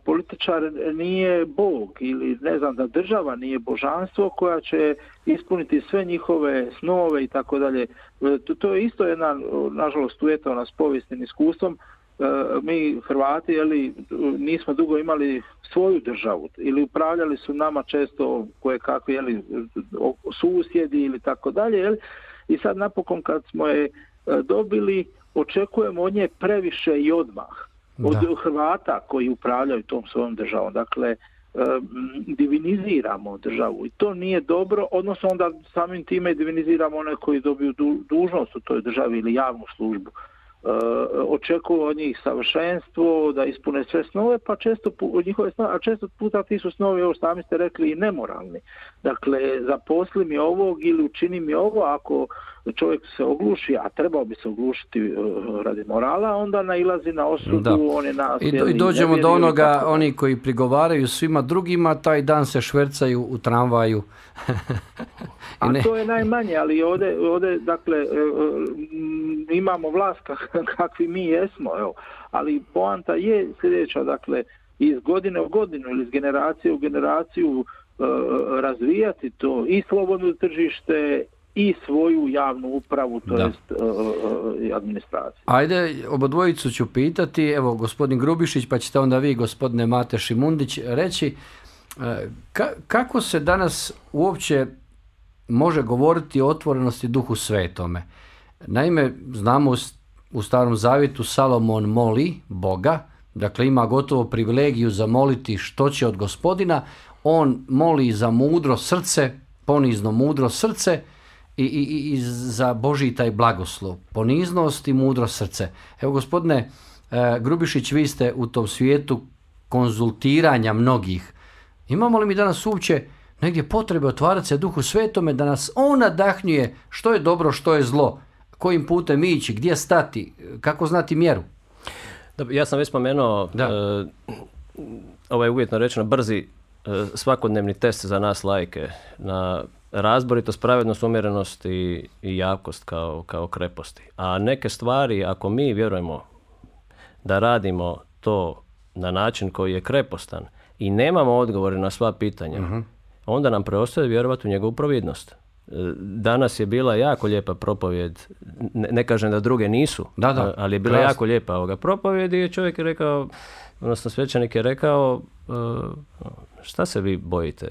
političar nije Bog ili ne znam da država nije božanstvo koja će ispuniti sve njihove snove i tako dalje. To je isto jedna, nažalost, uvjetovana s povijesnim iskustvom. Mi Hrvati nismo dugo imali svoju državu ili upravljali su nama često koje kakvi susjedi ili tako dalje. I sad napokon kad smo je dobili, očekujemo od nje previše i odmah. Od Hrvata koji upravljaju tom svojom državom. Dakle, diviniziramo državu i to nije dobro, odnosno onda samim time diviniziramo one koji dobiju dužnost u toj državi ili javnu službu. Očekuju od njih savršenstvo, da ispune sve snove, pa često puta ti su snovi, ovo sami ste rekli, i nemoralni. Dakle, zaposli mi ovog ili učini mi ovo, ako čovjek se ogluši, a trebao bi se oglušiti radi morala, onda nailazi na osudu, on je I dođemo do onoga, oni koji prigovaraju svima drugima, taj dan se švercaju u tramvaju. A to je najmanje, ali ovdje dakle, imamo vlast kakvi mi jesmo, ali poanta je sljedeća, dakle, iz godine u godinu ili iz generacije u generaciju razvijati to i slobodno tržište i svoju javnu upravu, to jest administraciju. Ajde, obodvojicu ću pitati, evo gospodin Grubišić, pa ćete onda vi, gospodine Mate Šimundić, reći kako se danas uopće može govoriti o otvorenosti Duhu Svetome. Naime, znamo u Starom Zavjetu Salomon moli Boga, dakle ima gotovo privilegiju zamoliti što će od Gospodina, on moli za mudro srce, ponizno mudro srce i za Božji taj blagoslov, poniznost i mudro srce. Evo gospodine Grubišić, vi ste u tom svijetu konzultiranja mnogih. Imamo li mi danas uopće negdje potrebe otvarati se Duhu Svetome da nas on nadahnjuje što je dobro, što je zlo, kojim putem ići, gdje stati, kako znati mjeru? Ja sam već spomenuo ovaj uvjetno rečeno brzi svakodnevni test za nas laike na razboritost, pravednost, umjerenost i jakost kao kreposti. A neke stvari, ako mi vjerujemo da radimo to na način koji je krepostan i nemamo odgovore na sva pitanja, onda nam preostaje vjerovati u njegovu providnost. Danas je bila jako lijepa propovjed, ne kažem da druge nisu, ali je bila jako lijepa ovoga propovjed i čovjek je rekao, odnosno svećenik je rekao, šta se vi bojite?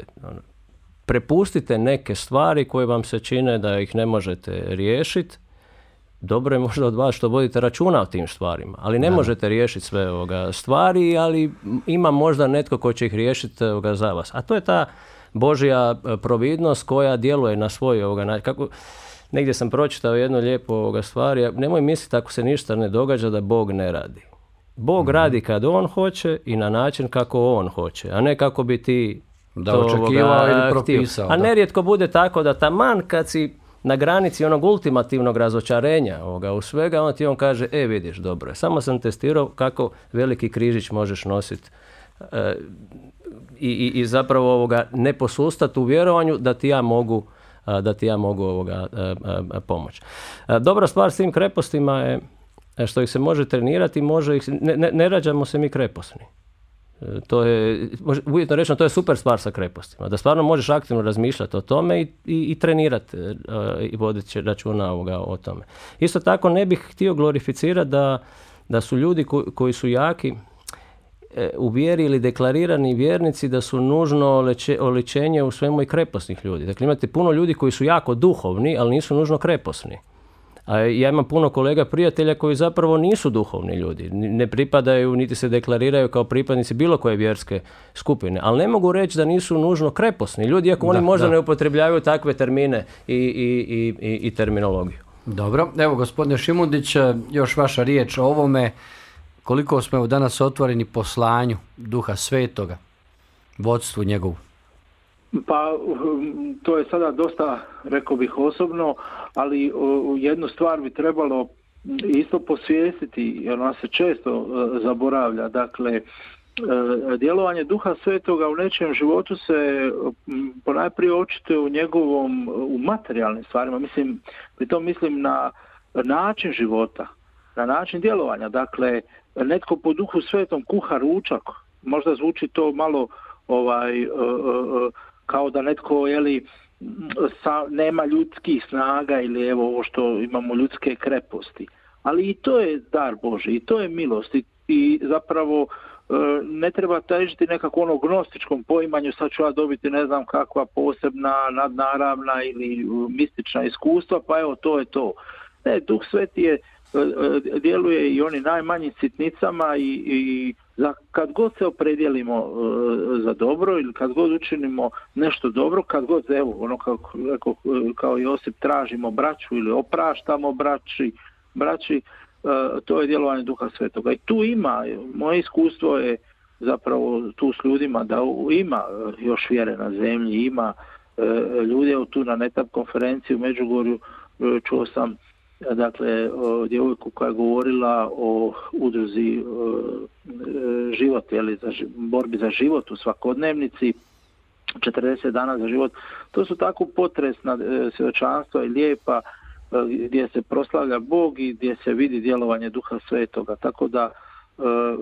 Prepustite neke stvari koje vam se čine da ih ne možete riješiti. Dobro je možda od vas što vodite računa o tim stvarima, ali ne možete riješiti sve stvari, ali ima možda netko ko će ih riješiti za vas. A to je ta Božja providnost koja djeluje na svoj kako. Negdje sam pročitao jednu lijepu stvar, nemoj misliti ako se ništa ne događa da Bog ne radi. Bog radi kad on hoće i na način kako on hoće, a ne kako bi ti da očekivao ili propisao. A nerijetko bude tako da taman kad si na granici onog ultimativnog razočarenja u svega, on ti kaže, vidiš, dobro je, samo sam testirao kako veliki križić možeš nositi i zapravo ne posustati u vjerovanju da ti ja mogu pomoći. Dobra stvar s tim krepostima je što ih se može trenirati, ne rađamo se mi kreposni. To je, uvjetno rečeno, to je super stvar sa krepostima. Da stvarno možeš aktivno razmišljati o tome i trenirati i voditi računa o tome. Isto tako ne bih htio glorificirati da su ljudi koji su jaki u vjeri ili deklarirani vjernici da su nužno oličenje u svemu i kreposnih ljudi. Dakle, imate puno ljudi koji su jako duhovni, ali nisu nužno kreposni. A ja imam puno kolega prijatelja koji zapravo nisu duhovni ljudi. Ne pripadaju, niti se deklariraju kao pripadnici bilo koje vjerske skupine. Ali ne mogu reći da nisu nužno kreposni ljudi, iako oni možda ne upotrebljavaju takve termine i terminologiju. Dobro. Evo, gospodine Šimundić, još vaša riječ o ovome. Koliko smo danas otvoreni poslanju Duha Svetoga, vodstvu njegovu? Pa, to je sada dosta, rekao bih, osobno, ali jednu stvar bi trebalo isto posvijestiti, jer ona se često zaboravlja. Dakle, djelovanje Duha Svetoga u nečijem životu se ponajprije očituje u materijalnim stvarima. Pritom mislim na način života, na način djelovanja. Dakle, netko po Duhu Svetom kuha ručak, možda zvuči to malo kao da netko nema ljudskih snaga ili evo ovo što imamo ljudske kreposti. Ali i to je dar Božji, i to je milost i zapravo ne treba težiti nekako gnostičkom poimanju, sad ću ja dobiti ne znam kakva posebna, nadnaravna ili mistična iskustva, pa evo to je to. Ne, Duh Sveti je djeluje i oni najmanjim sitnicama i kad god se opredijelimo za dobro ili kad god učinimo nešto dobro, kad god kao Josip tražimo braću ili opraštamo braći, to je djelovanje Duha Svetoga. I tu ima, moje iskustvo je zapravo tu s ljudima da ima još vjere na zemlji, ima ljudi, tu na NETAP konferenciji u Međugorju čuo sam djevojku koja je govorila o udruzi život, borbi za život u svakodnevnici, 40 dana za život. To su tako potresna svjedočanstva i lijepa gdje se proslavlja Bog i gdje se vidi djelovanje Duha Svetoga. Tako da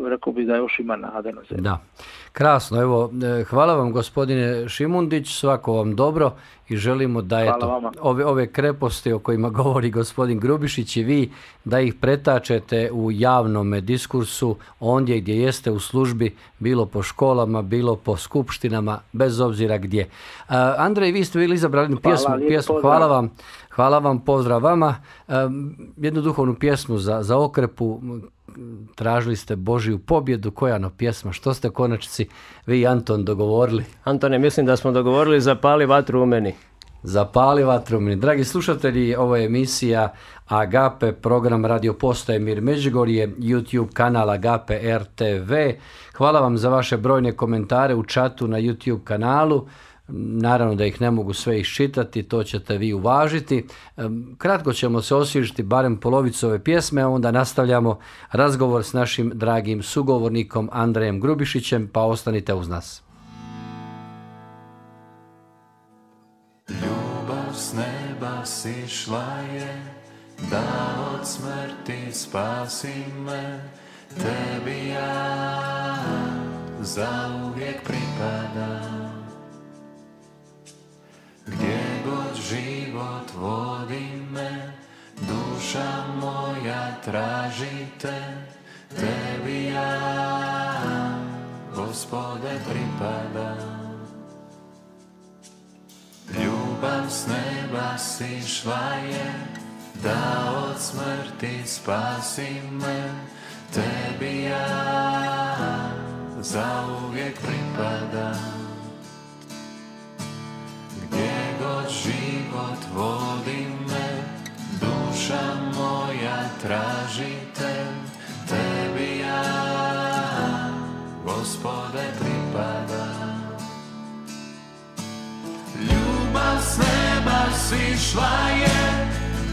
rekao bih da još ima nade na zemlji. Da, krasno. Evo, hvala vam gospodine Šimundić, svako vam dobro i želimo da ove kreposti o kojima govori gospodin Grubišić i vi, da ih pretačete u javnom diskursu ondje gdje jeste u službi, bilo po školama, bilo po skupštinama, bez obzira gdje. Andrej, vi ste bili izabrali pjesmu. Hvala vam, pozdrav vama. Jednu duhovnu pjesmu za Okrepu. Tražili ste Božju pobjedu, koja pjesma, što ste konačnici vi i Anton dogovorili? Antone, mislim da smo dogovorili Zapali vatru u meni. Zapali vatru u meni. Dragi slušatelji, ovo je emisija Agape, program Radio Postaje Mir Međugorje, YouTube kanal Agape RTV. Hvala vam za vaše brojne komentare u čatu na YouTube kanalu. Naravno da ih ne mogu sve iščitati, to ćete vi uvažiti. Kratko ćemo se osvježiti barem polovicu ove pjesme, a onda nastavljamo razgovor s našim dragim sugovornikom Andrejem Grubišićem, pa ostanite uz nas. Ljubav s neba sišla je, da od smrti spasi me, tebi ja zauvijek pripadam. Gdje god život vodi me, duša moja traži te, tebi ja, Gospode, pripadam. Ljubav s neba sišla je, da od smrti spasi me, tebi ja zauvijek pripadam. život vodi me, duša moja traži te, tebi ja, Gospode, pripadam. Ljubav s neba sišla je,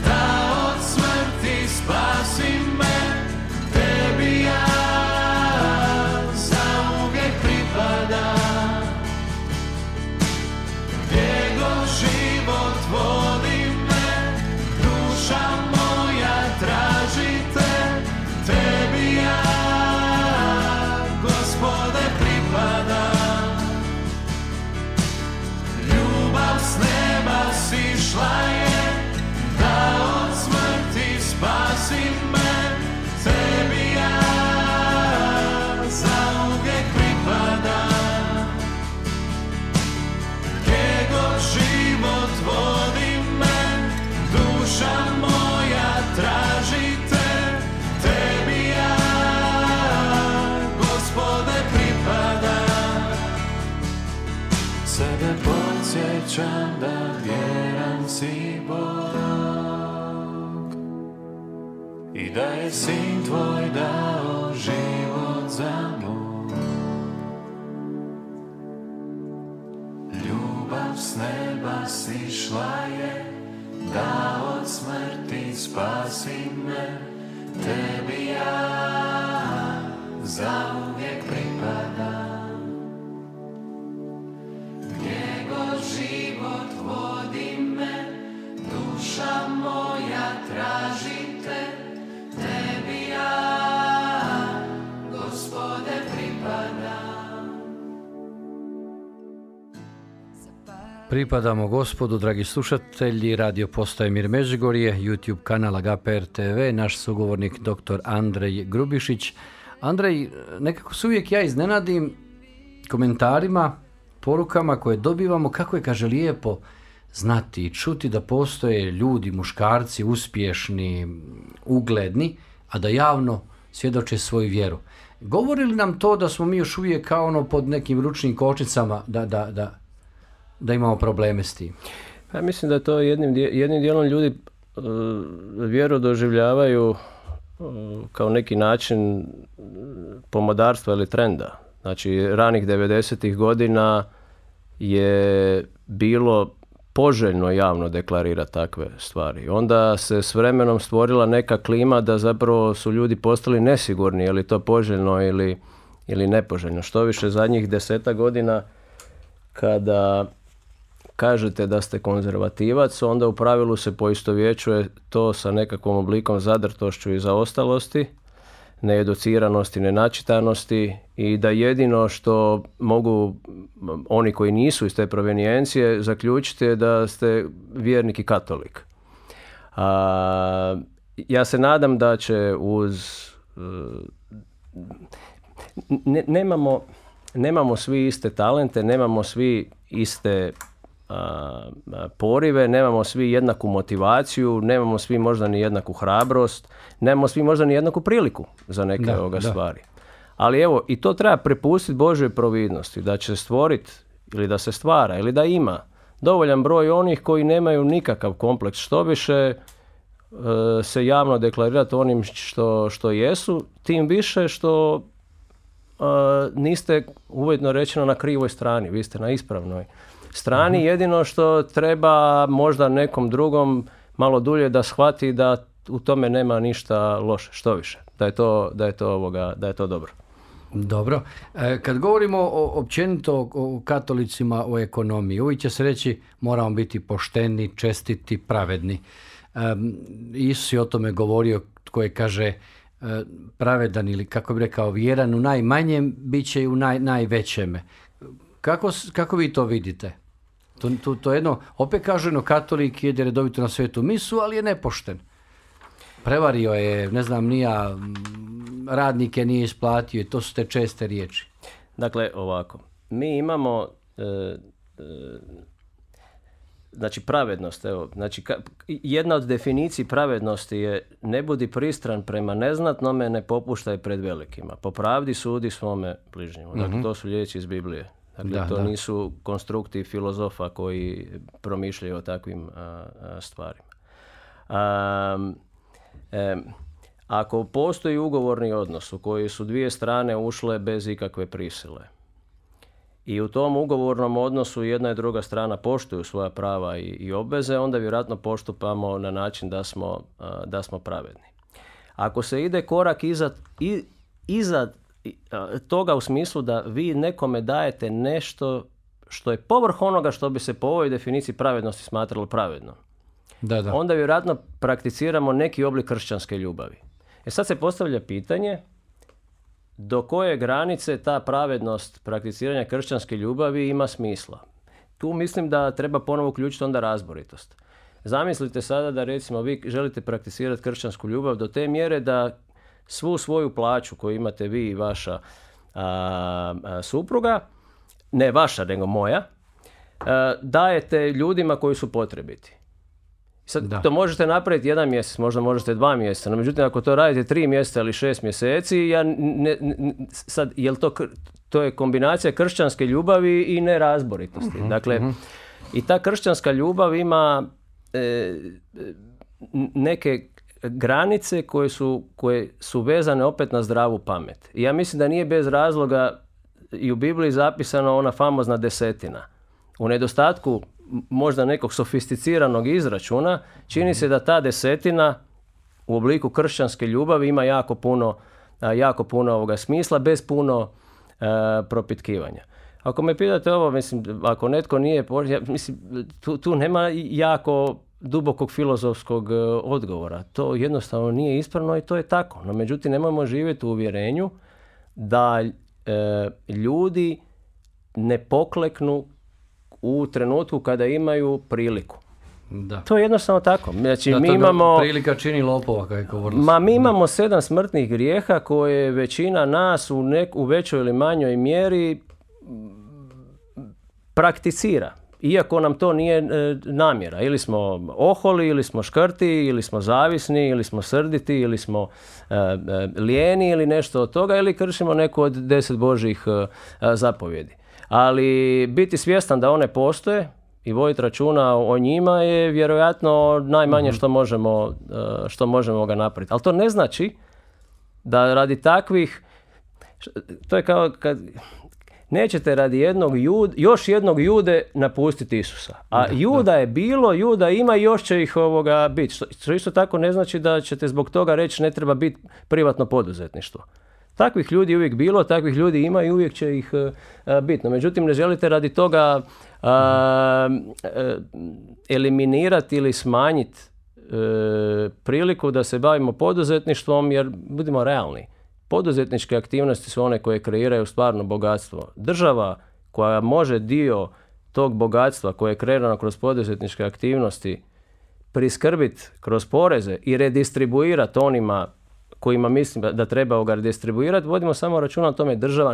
da od smrti spasi me, tebi ja zauvijek pripadam. Gdje god život vodi me, duša moja traži te, tebi ja, Gospode, pripadam. Ljubav s neba sišla je, da od smrti spasi me, tebi ja zauvijek pripadam. Gdje god život vodi me, duša moja traži te, tebi ja, Gospode, pripadam. Sebe podsjećam da vjeran si Bog i da je Sin tvoj dao život za moj. Ljubav s neba sišla je, da od smrti spasi me, tebi ja zauvijek pripadam. Gdje god život vodi me, duša moja traži te, tebi ja, Gospode, pripadam. Pripadamo Gospodu, dragi slušatelji, radio postaje Mir Međugorje, YouTube kanal AGPR TV, naš sugovornik dr. Andrej Grubišić. Andrej, nekako se uvijek ja iznenadim komentarima, porukama koje dobivamo, kako je, kaže, lijepo znati i čuti da postoje ljudi, muškarci, uspješni, ugledni, a da javno svjedoče svoju vjeru. Govori li nam to da smo mi još uvijek kao ono pod nekim ručnim kočnicama, da imamo probleme s tim? Ja mislim da to jednim dijelom ljudi vjeru doživljavaju kao neki način pomodarstva ili trenda. Znači, ranih 90-ih godina je bilo poželjno javno deklarirati takve stvari. Onda se s vremenom stvorila neka klima da zapravo su ljudi postali nesigurni, je li to poželjno ili nepoželjno. Što više, zadnjih 10 godina kada kažete da ste konzervativac, onda u pravilu se poistovjećuje to sa nekakvom oblikom zadrtošću i zaostalosti, needuciranosti, nenačitanosti i da jedino što mogu oni koji nisu iz te provenijencije zaključiti je da ste vjernik i katolik. Ja se nadam da će nemamo svi iste talente, nemamo svi iste porive, nemamo svi jednaku motivaciju, nemamo svi možda ni jednaku hrabrost, nemamo svi možda ni jednaku priliku za neke stvari. Ali evo, i to treba prepustiti Božoj providnosti, da će stvoriti ili da se stvara ili da ima dovoljan broj onih koji nemaju nikakav kompleks, što više se javno deklarirati onim što jesu, tim više što niste, uvjetno rečeno, na krivoj strani, vi ste na ispravnoj strani. Jedino što treba možda nekom drugom malo dulje da shvati da u tome nema ništa loše, što više, da je to dobro. Dobro. Kad govorimo općenito o katolicima, o ekonomiji, uvijek će se reći moramo biti pošteni, čestiti, pravedni. Isus je o tome govorio, tko je, kaže, pravedan ili, kako bi rekao, vjeran u najmanjem, bit će i u najvećeme. Kako vi to vidite? To je jedno, opet kaženo, katolik jede redovito na svetu misu, ali je nepošten. Prevario je, ne znam, radnike nije isplatio i to su te česte riječi. Dakle, ovako, mi imamo znači pravednost, evo, znači jedna od definiciji pravednosti je ne budi pristran prema neznatnome, ne popuštaj pred velikima. Po pravdi sudi svome bližnjemu. Dakle, to su riječi iz Biblije. Dakle, to nisu konstrukti filozofa koji promišljaju o takvim stvarima. Ako postoji ugovorni odnos u koji su dvije strane ušle bez ikakve prisile i u tom ugovornom odnosu jedna i druga strana poštuju svoja prava i obveze, onda vjerojatno postupamo na način da smo pravedni. Ako se ide korak iza toga u smislu da vi nekome dajete nešto što je povrh onoga što bi se po ovoj definiciji pravednosti smatralo pravedno, onda vjerojatno prakticiramo neki oblik kršćanske ljubavi. Sad se postavlja pitanje do koje granice ta pravednost prakticiranja kršćanske ljubavi ima smisla. Tu mislim da treba ponovo uključiti onda razboritost. Zamislite sada da recimo vi želite prakticirati kršćansku ljubav do te mjere da svu svoju plaću koju imate vi i vaša supruga, ne vaša nego moja, dajete ljudima koji su potrebiti. Sad to možete napraviti 1 mjesec, možda možete 2 mjeseca, no međutim ako to radite 3 mjeseca ili 6 mjeseci, sad jel to je kombinacija kršćanske ljubavi i nerazboritosti. Dakle, i ta kršćanska ljubav ima neke granice koje su vezane opet na zdravu pamet. I ja mislim da nije bez razloga i u Bibliji zapisana ona famozna 10. U nedostatku možda nekog sofisticiranog izračuna, čini se da ta 10 u obliku kršćanske ljubavi ima jako puno ovoga smisla, bez puno propitkivanja. Ako me pitate ovo, mislim, ako netko nije, mislim, tu nema jako dubokog filozofskog odgovora. To jednostavno nije ispravno i to je tako. No, međutim, nemojmo živjeti u uvjerenju da ljudi ne pokleknu u trenutku kada imaju priliku. Da. To je jednostavno tako. Znači, mi imamo... Prilika čini lopova, kako je govorilo. Mi imamo 7 smrtnih grijeha koje većina nas u većoj ili manjoj mjeri prakticira. Iako nam to nije namjera. Ili smo oholi, ili smo škrti, ili smo zavisni, ili smo srditi, ili smo lijeni, ili nešto od toga, ili kršimo neku od 10 Božjih zapovjedi. Ali biti svjestan da one postoje i voditi računa o njima je vjerojatno najmanje što možemo ga napraviti. Ali to ne znači da radi takvih, to je kao kad nećete radi još jednog Jude napustiti Isusa. A Juda je bilo, Juda ima i još će ih biti. Što isto tako ne znači da ćete zbog toga reći ne treba biti privatno poduzetništvo. Takvih ljudi uvijek bilo, takvih ljudi ima i uvijek će ih biti. No, međutim, ne želite radi toga eliminirati ili smanjiti priliku da se bavimo poduzetništvom, jer budimo realni. Poduzetničke aktivnosti su one koje kreiraju stvarno bogatstvo. Država koja može dio tog bogatstva koje je kreirano kroz poduzetničke aktivnosti priskrbiti kroz poreze i redistribuirati onima kojima mislim da treba ga redistribuirati, vodimo samo računa o tome, država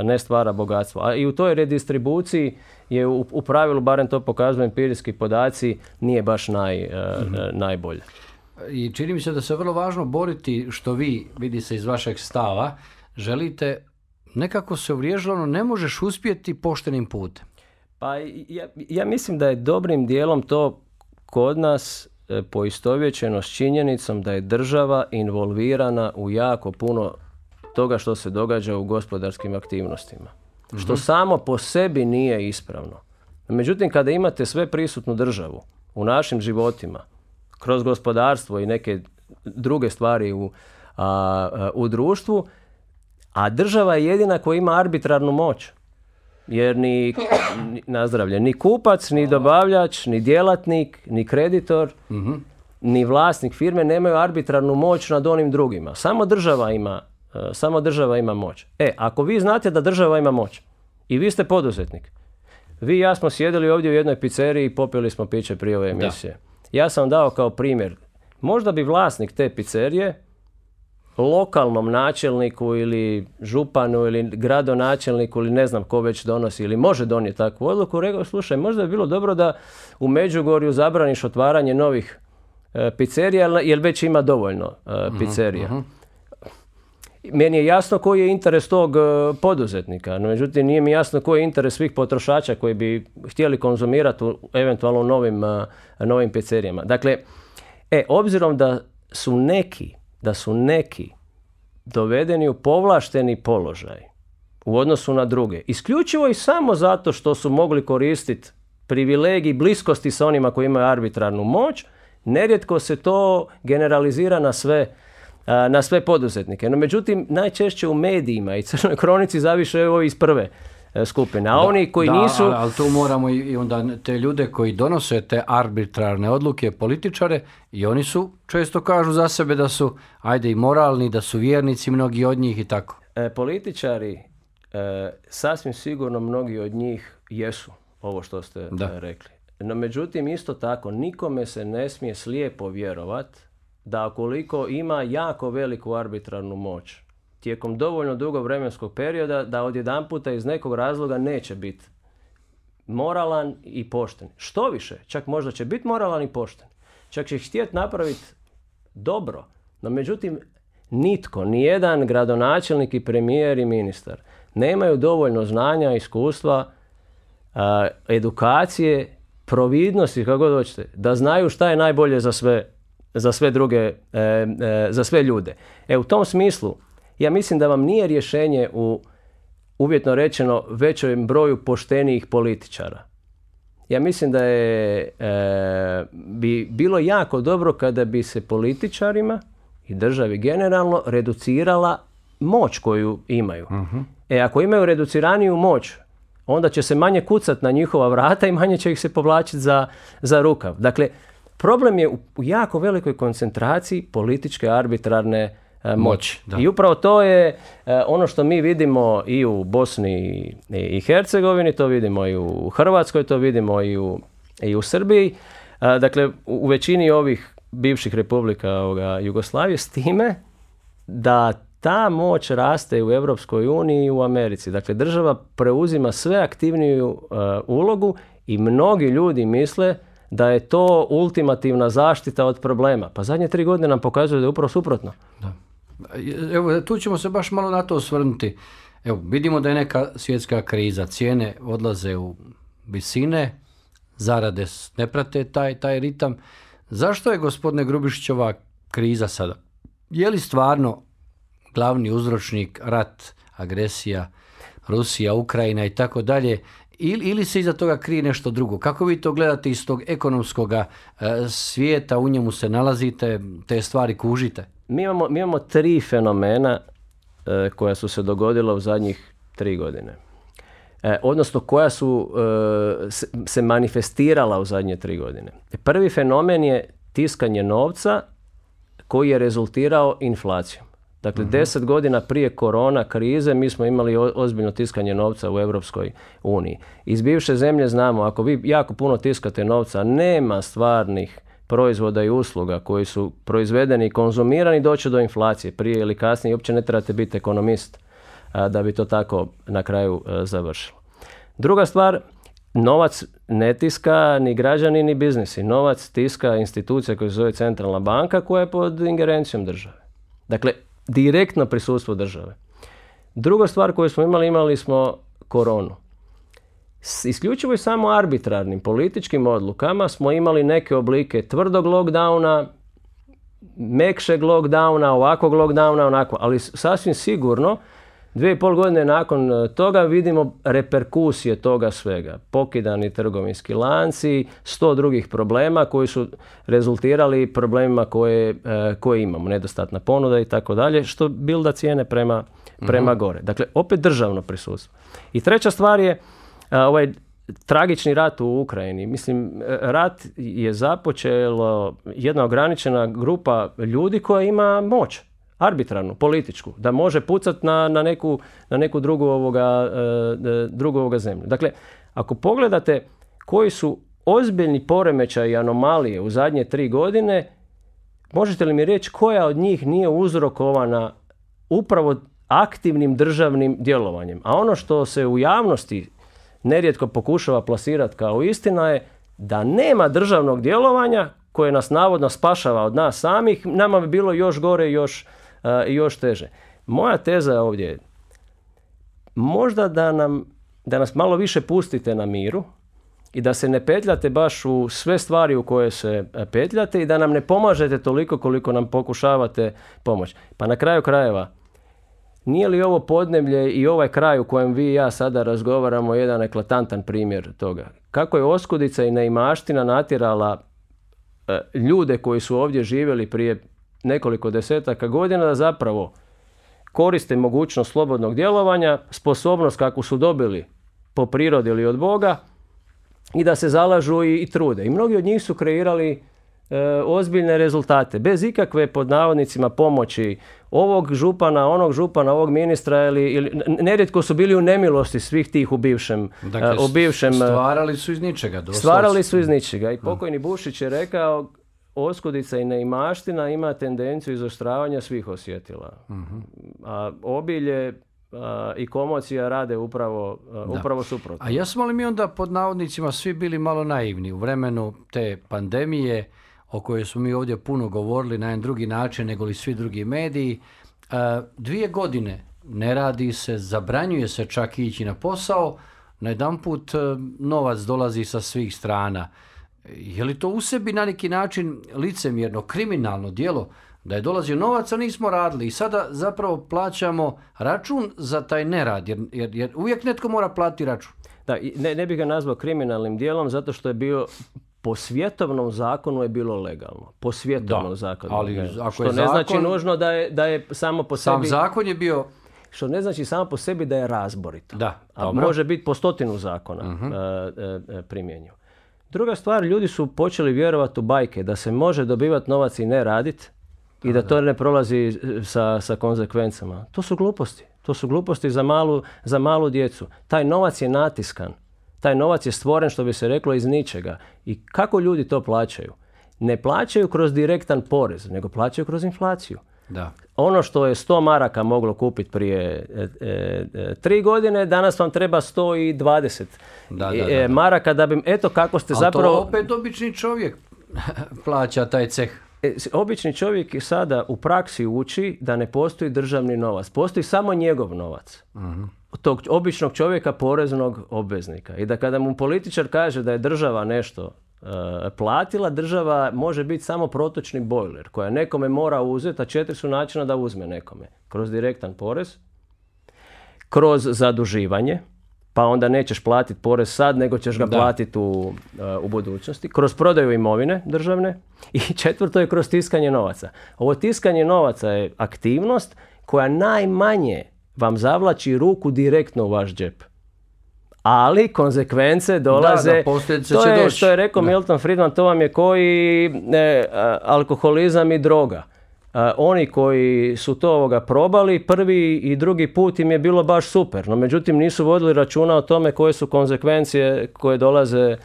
ne stvara bogatstvo. A i u toj redistribuciji je u pravilu, barem to pokazuju empirijski podaci, nije baš najbolje. I čini mi se da se vrlo važno boriti, što vi, vidi se iz vašeg stava, želite, nekako se uvriježilo, ne možeš uspjeti poštenim putem. Pa ja mislim da je dobrim dijelom to kod nas poistovjećeno s činjenicom da je država involvirana u jako puno toga što se događa u gospodarskim aktivnostima. Što samo po sebi nije ispravno. Međutim, kada imate sve prisutnu državu u našim životima, kroz gospodarstvo i neke druge stvari u društvu, a država je jedina koja ima arbitrarnu moć. Jer ni kupac, ni dobavljač, ni djelatnik, ni kreditor, ni vlasnik firme nemaju arbitrarnu moć nad onim drugima. Samo država ima moć. Ako vi znate da država ima moć i vi ste poduzetnik, vi i ja smo sjedili ovdje u jednoj pizzeriji i popili smo piće prije ove emisije. Ja sam dao kao primjer, možda bi vlasnik te pizzerije lokalnom načelniku ili županu ili gradonačelniku ili ne znam ko već donosi ili može donijeti takvu odluku, rekao, slušaj, možda bi bilo dobro da u Međugorju zabraniš otvaranje novih pizzerija jer već ima dovoljno pizzerija. Meni je jasno koji je interes tog poduzetnika, no međutim nije mi jasno koji je interes svih potrošača koji bi htjeli konzumirati u eventualno novim pizzerijama. Dakle, obzirom da su neki dovedeni u povlašteni položaj u odnosu na druge, isključivo i samo zato što su mogli koristiti privilegij bliskosti sa onima koji imaju arbitrarnu moć, nerijetko se to generalizira na sve poduzetnike. No međutim, najčešće u medijima i crnoj kronici zaviše ovi iz prve skupine. A oni koji nisu... Ali tu moramo i onda te ljude koji donose te arbitrarne odluke, političare, i oni su, često kažu za sebe da su, i moralni, da su vjernici, mnogi od njih i tako. Političari, sasvim sigurno mnogi od njih jesu ovo što ste rekli. No međutim, isto tako, nikome se ne smije slijepo vjerovati da ukoliko ima jako veliku arbitrarnu moć tijekom dovoljno dugo vremenskog perioda, da odjedanputa iz nekog razloga neće biti moralan i pošten. Što više, čak možda će biti moralan i pošten. Čak će htjeti napraviti dobro. No međutim, nitko, nijedan gradonačelnik i premijer i ministar nemaju dovoljno znanja, iskustva, edukacije, providnosti, kako god hoćete, da znaju šta je najbolje za sve druge, za sve ljude. U tom smislu, ja mislim da vam nije rješenje u, uvjetno rečeno, većem broju poštenijih političara. Ja mislim da bi bilo jako dobro kada bi se političarima i državi generalno reducirala moć koju imaju. Uh-huh. Ako imaju reduciraniju moć, onda će se manje kucati na njihova vrata i manje će ih se povlačiti za rukav. Dakle, problem je u jako velikoj koncentraciji političke arbitrarne moći. I upravo to je ono što mi vidimo i u Bosni i Hercegovini, to vidimo i u Hrvatskoj, to vidimo i u Srbiji. Dakle, u većini ovih bivših republika Jugoslavije, s time da ta moć raste u Europskoj uniji i u Americi. Dakle, država preuzima sve aktivniju ulogu i mnogi ljudi misle da je to ultimativna zaštita od problema. Pa zadnje 3 godine nam pokazuje da je upravo suprotno. Da. Evo, tu ćemo se baš malo na to osvrnuti. Evo, vidimo da je neka svjetska kriza, cijene odlaze u visine, zarade ne prate taj ritam. Zašto je, gospodine Grubišić, ova kriza sada? Je li stvarno glavni uzročnik rat, agresija, Rusija, Ukrajina i tako dalje, ili se iza toga krije nešto drugo? Kako vi to gledate iz tog ekonomskog svijeta, u njemu se nalazite, te stvari kužite? Mi imamo 3 fenomena koja su se dogodila u zadnjih 3 godine. Odnosno koja su se manifestirala u zadnje 3 godine. Prvi fenomen je tiskanje novca koji je rezultirao inflacijom. Dakle, 10 godina prije korona krize mi smo imali ozbiljno tiskanje novca u Europskoj uniji. Iz bivše zemlje znamo, ako vi jako puno tiskate novca, nema stvarnih proizvoda i usluga koji su proizvedeni i konzumirani, doći do inflacije prije ili kasnije. Uopće ne trebate biti ekonomist da bi to tako na kraju završilo. Druga stvar, novac ne tiska ni građani ni biznisi. Novac tiska institucija koja se zove centralna banka koja je pod ingerencijom države. Dakle, direktno prisustvo države. Druga stvar koju smo imali smo koronu. Isključivo i samo arbitrarnim političkim odlukama smo imali neke oblike tvrdog lockdowna, mekšeg lockdowna, ovakvog lockdowna, onako, ali sasvim sigurno 2,5 godine nakon toga vidimo reperkusije toga svega. Pokidani trgovinski lanci, 100 drugih problema koji su rezultirali problemima koje imamo. Nedostatna ponuda i tako dalje, što bilda cijene prema gore. Dakle, opet državno prisustvo. I treća stvar je ovaj tragični rat u Ukrajini. Mislim, rat je započelo jedna ograničena grupa ljudi koja ima moć. Arbitrarnu, političku, da može pucati na neku drugu zemlju. Dakle, ako pogledate koji su ozbiljni poremećaji i anomalije u zadnje 3 godine, možete li mi reći koja od njih nije uzrokovana upravo aktivnim državnim djelovanjem? A ono što se u javnosti nerijetko pokušava plasirati kao istina je da nema državnog djelovanja koje nas navodno spašava od nas samih, nama bi bilo još gore i još teže. Moja teza je ovdje, možda da nas malo više pustite na miru i da se ne petljate baš u sve stvari u koje se petljate i da nam ne pomažete toliko koliko nam pokušavate pomoći. Pa na kraju krajeva, nije li ovo podneblje i ovaj kraj u kojem vi i ja sada razgovaramo jedan eklatantan primjer toga? Kako je oskudica i neimaština natjerala ljude koji su ovdje živjeli prije nekoliko desetaka godina da zapravo koriste mogućnost slobodnog djelovanja, sposobnost kakvu su dobili po prirodi ili od Boga i da se zalažu i trude. I mnogi od njih su kreirali ozbiljne rezultate, bez ikakve pod navodnicima pomoći ovog župana, onog župana, ovog ministra ili nerijetko su bili u nemilosti svih tih u bivšem. Dakle, stvarali su iz ničega. Stvarali su iz ničega. I pokojni Bušić je rekao, oskudica i neimaština ima tendenciju izoštravanja svih osjetila. A obilje i komocija rade upravo suprotno. A jesmo li mi onda pod navodnicima svi bili malo naivni u vremenu te pandemije o kojoj smo mi ovdje puno govorili na jedan drugi način nego li svi drugi mediji? 2 godine ne radi se, zabranjuje se čak ići na posao, najedanput novac dolazi sa svih strana. Je li to u sebi na neki način licemjerno, kriminalno djelo da je dolazio novac, a nismo radili i sada zapravo plaćamo račun za taj nerad, jer uvijek netko mora platiti račun. Da, ne bih ga nazvao kriminalnim djelom zato što je bio po svjetovnom zakonu je bilo legalno. Po svjetovnom zakonu. Ali ako što je ne zakon, znači nužno da je samo po sebi... Sam zakon je bio... Što ne znači samo po sebi da je razborito. Da, a može biti po 100 zakona primjenjiv. Druga stvar, ljudi su počeli vjerovati u bajke da se može dobivati novac i ne raditi i da to ne prolazi sa konzekvencama. To su gluposti. To su gluposti za malu djecu. Taj novac je natiskan. Taj novac je stvoren, što bi se reklo, iz ničega. I kako ljudi to plaćaju? Ne plaćaju kroz direktan porez, nego plaćaju kroz inflaciju. Da. Ono što je 100 maraka moglo kupiti prije 3 godine, danas vam treba 120 maraka da bi, eto kako ste zapravo... Ali to opet obični čovjek plaća taj ceh. Obični čovjek sada u praksi uči da ne postoji državni novac. Postoji samo njegov novac. Tog običnog čovjeka, poreznog obveznika. I da kada mu političar kaže da je država nešto platila, država može biti samo protočni bojler koja nekome mora uzeti, a 4 su načina da uzme nekome. Kroz direktan porez, kroz zaduživanje, pa onda nećeš platiti porez sad, nego ćeš ga platiti u budućnosti, kroz prodaju imovine državne i 4. je kroz tiskanje novaca. Ovo tiskanje novaca je aktivnost koja najmanje vam zavlači ruku direktno u vaš džep. Ali konzekvence dolaze, to je što je rekao Milton Friedman, to vam je koji alkoholizam i droga. Oni koji su to probali, prvi i drugi put im je bilo baš super, no međutim nisu vodili računa o tome koje su konzekvencije koje dolaze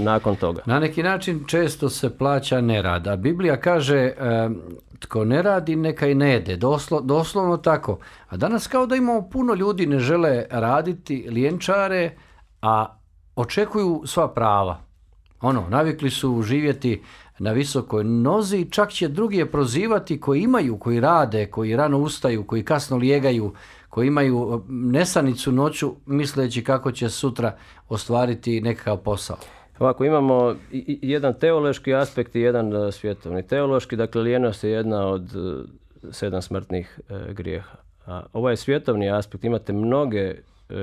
nakon toga. Na neki način često se plaća nerad, a Biblija kaže tko ne radi neka i ne jede, doslovno tako. A danas kao da imamo puno ljudi ne žele raditi, lijenčare, a očekuju sva prava. Navikli su živjeti na visokoj nozi, čak će drugi je prozivati koji imaju, koji rade, koji rano ustaju, koji kasno lijegaju, koji imaju nesanicu noću misleći kako će sutra ostvariti nekakav posao. Ovako, imamo jedan teološki aspekt i jedan svjetovni. Teološki, dakle, lijenost je jedna od 7 smrtnih grijeha. A ovaj je svjetovni aspekt, imate mnoge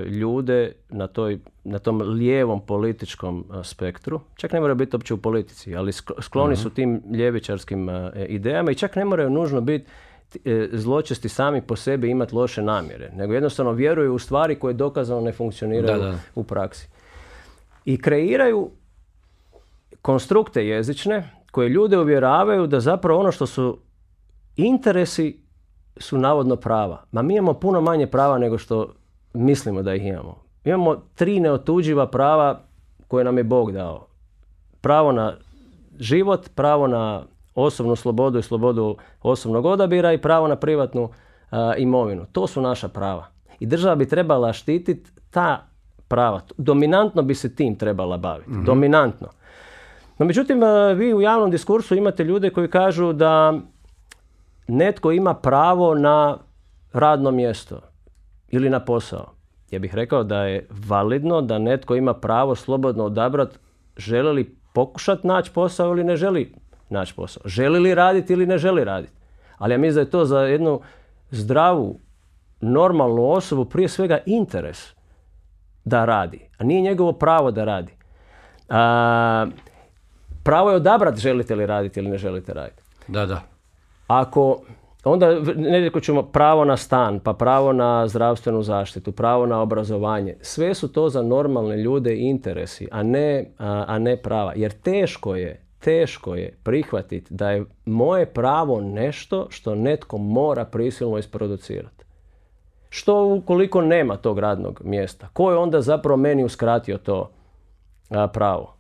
ljude na tom lijevom političkom spektru, čak ne moraju biti uopće u politici, ali skloni su tim ljevičarskim idejama i čak ne moraju nužno biti zločesti sami po sebi imati loše namjere, nego jednostavno vjeruju u stvari koje dokazano ne funkcioniraju u praksi. I kreiraju konstrukte jezične koje ljude uvjeravaju da zapravo ono što su interesi su navodno prava. Ma mi imamo puno manje prava nego što mislimo da ih imamo. Imamo 3 neotuđiva prava koje nam je Bog dao. Pravo na život, pravo na osobnu slobodu i slobodu osobnog odabira i pravo na privatnu imovinu. To su naša prava. I država bi trebala štititi ta prava. Dominantno bi se tim trebala baviti. Dominantno. No međutim, vi u javnom diskursu imate ljude koji kažu da netko ima pravo na radno mjesto ili na posao. Ja bih rekao da je validno da netko ima pravo slobodno odabrati želi li pokušati naći posao ili ne želi naći posao. Želi li raditi ili ne želi raditi. Ali ja mislim da je to za jednu zdravu, normalnu osobu prije svega interes da radi, a nije njegovo pravo da radi. Pravo je odabrati želite li raditi ili ne želite raditi. Da. Ako, onda nekako ćemo pravo na stan, pa pravo na zdravstvenu zaštitu, pravo na obrazovanje. Sve su to za normalne ljude interesi, a ne prava. Jer teško je prihvatiti da je moje pravo nešto što netko mora prisilno isproducirati. Što ukoliko nema tog radnog mjesta? Ko je onda zapravo meni uskratio to pravo?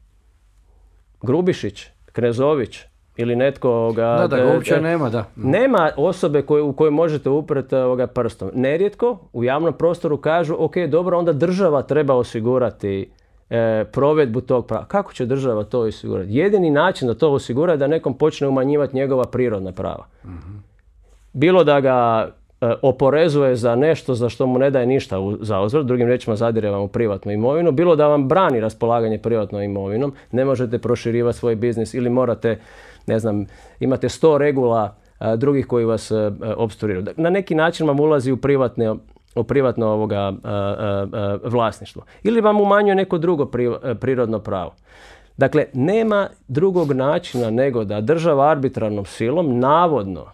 Grubišić, Knezović ili netko ga uopće nema, da. Nema osobe u kojoj možete upreti prstom. Nerijetko u javnom prostoru kažu ok, dobro, onda država treba osigurati provedbu tog prava. Kako će država to osigurati? Jedini način da to osigura je da nekom počne umanjivati njegova prirodna prava. Bilo da ga oporezuje za nešto za što mu ne daje ništa za uzvrat, drugim riječima zadire vam u privatnu imovinu, bilo da vam brani raspolaganje privatnom imovinom, ne možete proširivati svoj biznis ili morate, ne znam, imate 100 regula drugih koji vas opstruiraju. Na neki način vam ulazi u privatno vlasništvo. Ili vam umanjuje neko drugo prirodno pravo. Dakle, nema drugog načina nego da država arbitrarnom silom, navodno,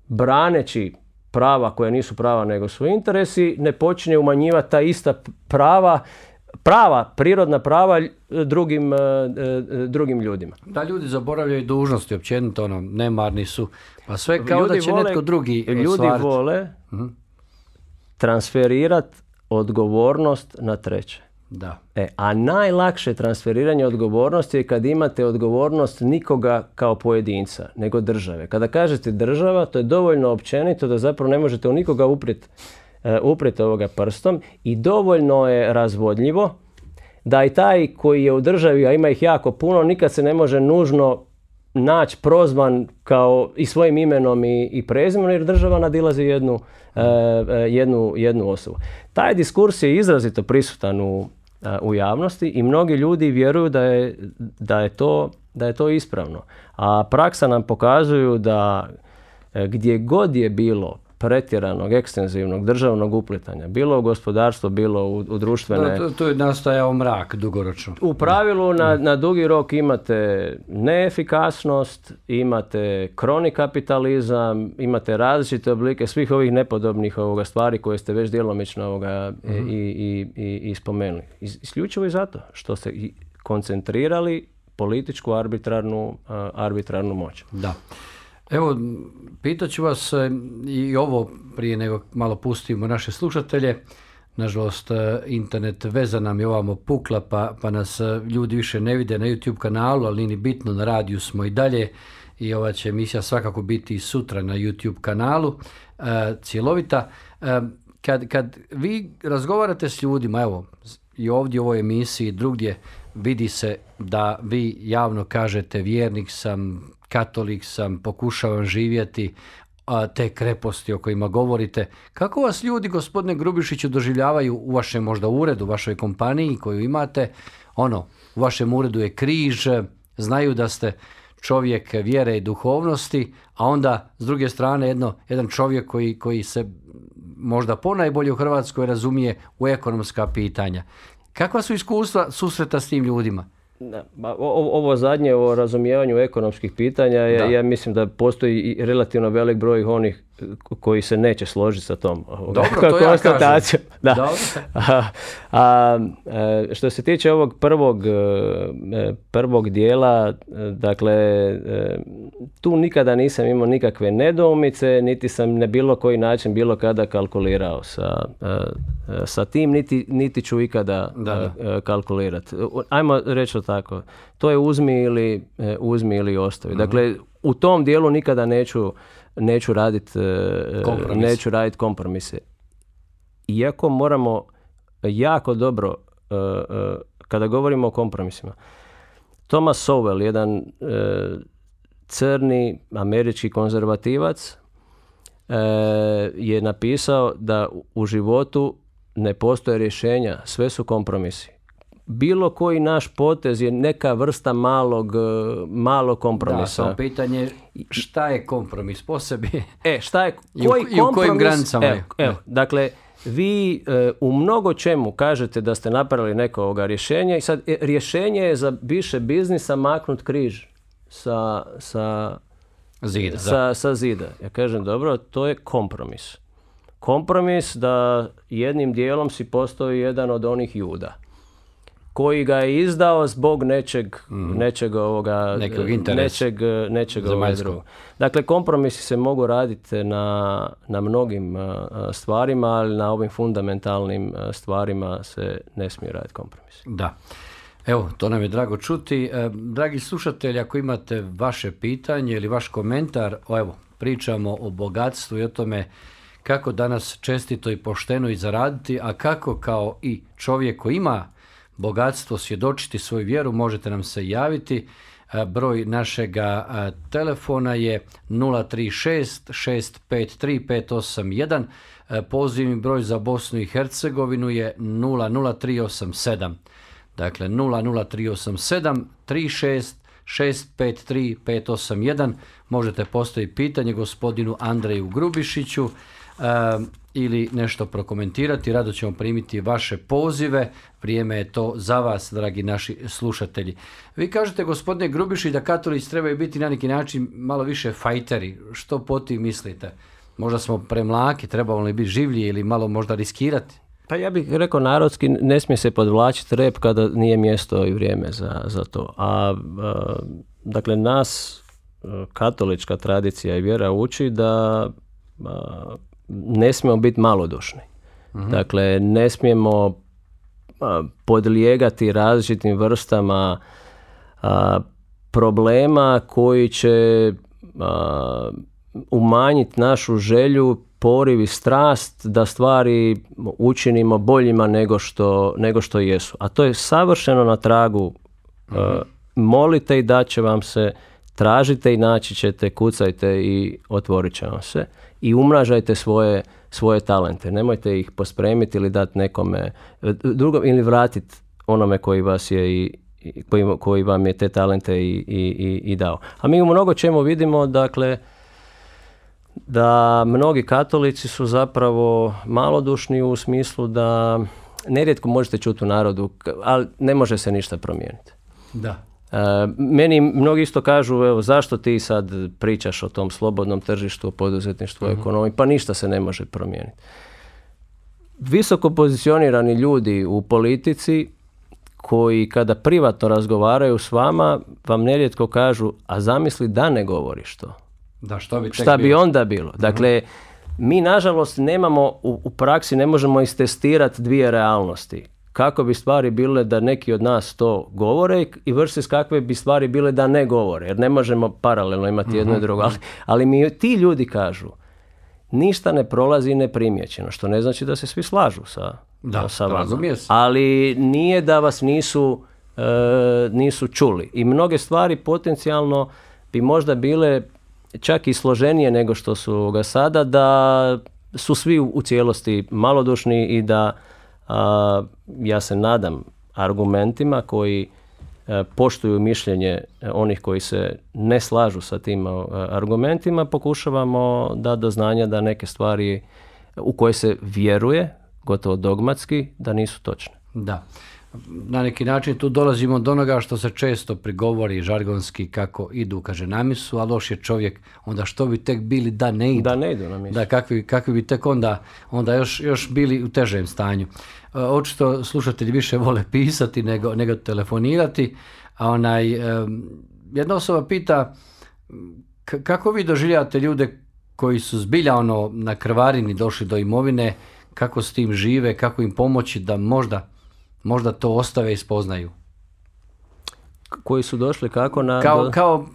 braneći prava koja nisu prava nego su interesi, ne počne umanjivati ta ista prirodna prava drugim ljudima. Da, ljudi zaboravljaju dužnosti, općenito nemarni su. Pa sve kao ljudi da će netko drugi ostvariti. Ljudi vole transferirati odgovornost na treće. Da. A najlakše transferiranje odgovornosti je kad imate odgovornost nikoga kao pojedinca, nego države. Kada kažete država, to je dovoljno općenito da zapravo ne možete u nikoga uprijeti ovoga prstom i dovoljno je razvodljivo da i taj koji je u državi, a ima ih jako puno, nikad se ne može nužno naći prozvan kao i svojim imenom i prezimenom, jer država nadilazi jednu osobu. Taj diskurs je izrazito prisutan u javnosti i mnogi ljudi vjeruju da je to ispravno. A praksa nam pokazuju da gdje god je bilo pretjeranog, ekstenzivnog državnog uplitanja, bilo u gospodarstvo, bilo u društvene... To je nastajao mrak dugoročno. U pravilu na dugi rok imate neefikasnost, imate kroni kapitalizam, imate različite oblike svih ovih nepodobnih stvari koje ste već djelomično i spomenuli. Isključivo i zato što ste koncentrirali političku arbitrarnu moć. Da. Evo, pitat ću vas i ovo prije nego malo pustimo naše slušatelje. Nažalost, internet veza nam je ovamo pukla, pa nas ljudi više ne vide na YouTube kanalu, ali nije bitno, na radiju smo i dalje i ova će emisija svakako biti i sutra na YouTube kanalu, cjelovita. Kad vi razgovarate s ljudima, evo, i ovdje u ovoj emisiji, drugdje, vidi se da vi javno kažete vjernik sam, katolik sam, pokušavam živjeti te kreposti o kojima govorite. Kako vas ljudi, gospodine Grubišiću, doživljavaju u vašem možda uredu, u vašoj kompaniji koju imate? U vašem uredu je križ, znaju da ste čovjek vjere i duhovnosti, a onda s druge strane jedan čovjek koji se možda ponajbolje u Hrvatskoj razumije u ekonomska pitanja. Kakva su iskustva susreta s tim ljudima? Ovo zadnje o razumijevanju ekonomskih pitanja, ja mislim da postoji i relativno velik broj onih koji se neće složiti sa tom konstatacijom. Što se tiče ovog prvog dijela, dakle, tu nikada nisam imao nikakve nedoumice, niti sam na bilo koji način bilo kada kalkulirao sa tim, niti ću ikada kalkulirati. Ajmo reći to tako, to je uzmi ili ostavi. Dakle, u tom dijelu nikada neću raditi kompromise. Iako moramo jako dobro, kada govorimo o kompromisima, Thomas Sowell, jedan crni američki konzervativac, je napisao da u životu ne postoje rješenja, sve su kompromisi. Bilo koji naš potez je neka vrsta malog kompromisa. Da, samo pitanje šta je kompromis po sebi? Šta je, koji i u kojim granicama? Dakle, vi u mnogo čemu kažete da ste napravili neko rješenje i sad rješenje je za više biznisa maknut križ sa zida. Sa zida. Ja kažem, dobro, to je kompromis. Kompromis da jednim dijelom si postao jedan od onih Juda koji ga je izdao zbog nečeg drugog. Dakle, kompromisi se mogu raditi na mnogim stvarima, ali na ovim fundamentalnim stvarima se ne smije raditi kompromis. Da. Evo, to nam je drago čuti. Dragi slušatelji, ako imate vaše pitanje ili vaš komentar, evo, pričamo o bogatstvu i o tome kako danas čestito i pošteno i zaraditi, a kako kao i čovjek koji ima bogatstvo svjedočiti svoju vjeru, možete nam se javiti. Broj našega telefona je 036 653 581. Pozivni broj za Bosnu i Hercegovinu je 00387. Dakle, 00387 36 653 581. Možete postaviti pitanje gospodinu Andreju Grubišiću ili nešto prokomentirati. Rado ćemo primiti vaše pozive. Vrijeme je to za vas, dragi naši slušatelji. Vi kažete, gospodine Grubišić, da katolici trebaju biti na neki način malo više fajteri. Što po tim mislite? Možda smo premlaki, trebamo li biti življi ili malo možda riskirati? Pa ja bih rekao narodski, ne smije se podvlačiti rep kada nije mjesto i vrijeme za to. Dakle, nas katolička tradicija i vjera uči da ne smijemo biti malodušni. Dakle, ne smijemo podlijegati različitim vrstama problema koji će umanjiti našu želju, poriv i strast da stvari učinimo boljima nego što jesu. A to je savršeno na tragu molite i dat će vam se, tražite i naći ćete, kucajte i otvorit će vam se. I umnažajte svoje talente. Nemojte ih pospremiti ili dati nekome drugom ili vratiti onome koji vas je koji vam je te talente i dao. A mi u mnogo čemu vidimo, dakle, da mnogi katolici su zapravo malodušni u smislu da nerijetko možete čuti u narodu, ali ne može se ništa promijeniti. Da. Meni mnogi isto kažu, evo, zašto ti sad pričaš o tom slobodnom tržištu, o poduzetništvu, o ekonomiji, pa ništa se ne može promijeniti. Visoko pozicionirani ljudi u politici koji kada privatno razgovaraju s vama, vam nerijetko kažu, a zamisli da ne govoriš to. Da, šta bi onda bilo? Dakle, mi nažalost nemamo, u praksi ne možemo istestirati dvije realnosti. Kako bi stvari bile da neki od nas to govore i versus kakve bi stvari bile da ne govore, jer ne možemo paralelno imati jedno i drugo. Ali mi ti ljudi kažu, ništa ne prolazi neprimjećeno, što ne znači da se svi slažu sa vama. Ali nije da vas nisu čuli. I mnoge stvari potencijalno bi možda bile čak i složenije nego što su ga sada, da su svi u cijelosti malodušni i da ja se nadam argumentima koji poštuju mišljenje onih koji se ne slažu sa tim argumentima, pokušavamo dati do znanja da neke stvari u koje se vjeruje, gotovo dogmatski, da nisu točne. Da. Na neki način tu dolazimo do onoga što se često prigovori žargonski, kako idu, kaže, na misu, a loš je čovjek, onda što bi tek bili da ne idu. Da ne idu na misu. Da, kakvi bi tek onda još bili u težem stanju. Očito slušatelji više vole pisati nego telefonirati, a jedna osoba pita kako vi doživljavate ljude koji su zbilja na krvarini došli do imovine, kako s tim žive, kako im pomoći da možda to ostave i spoznaju. Koji su došli kako Kao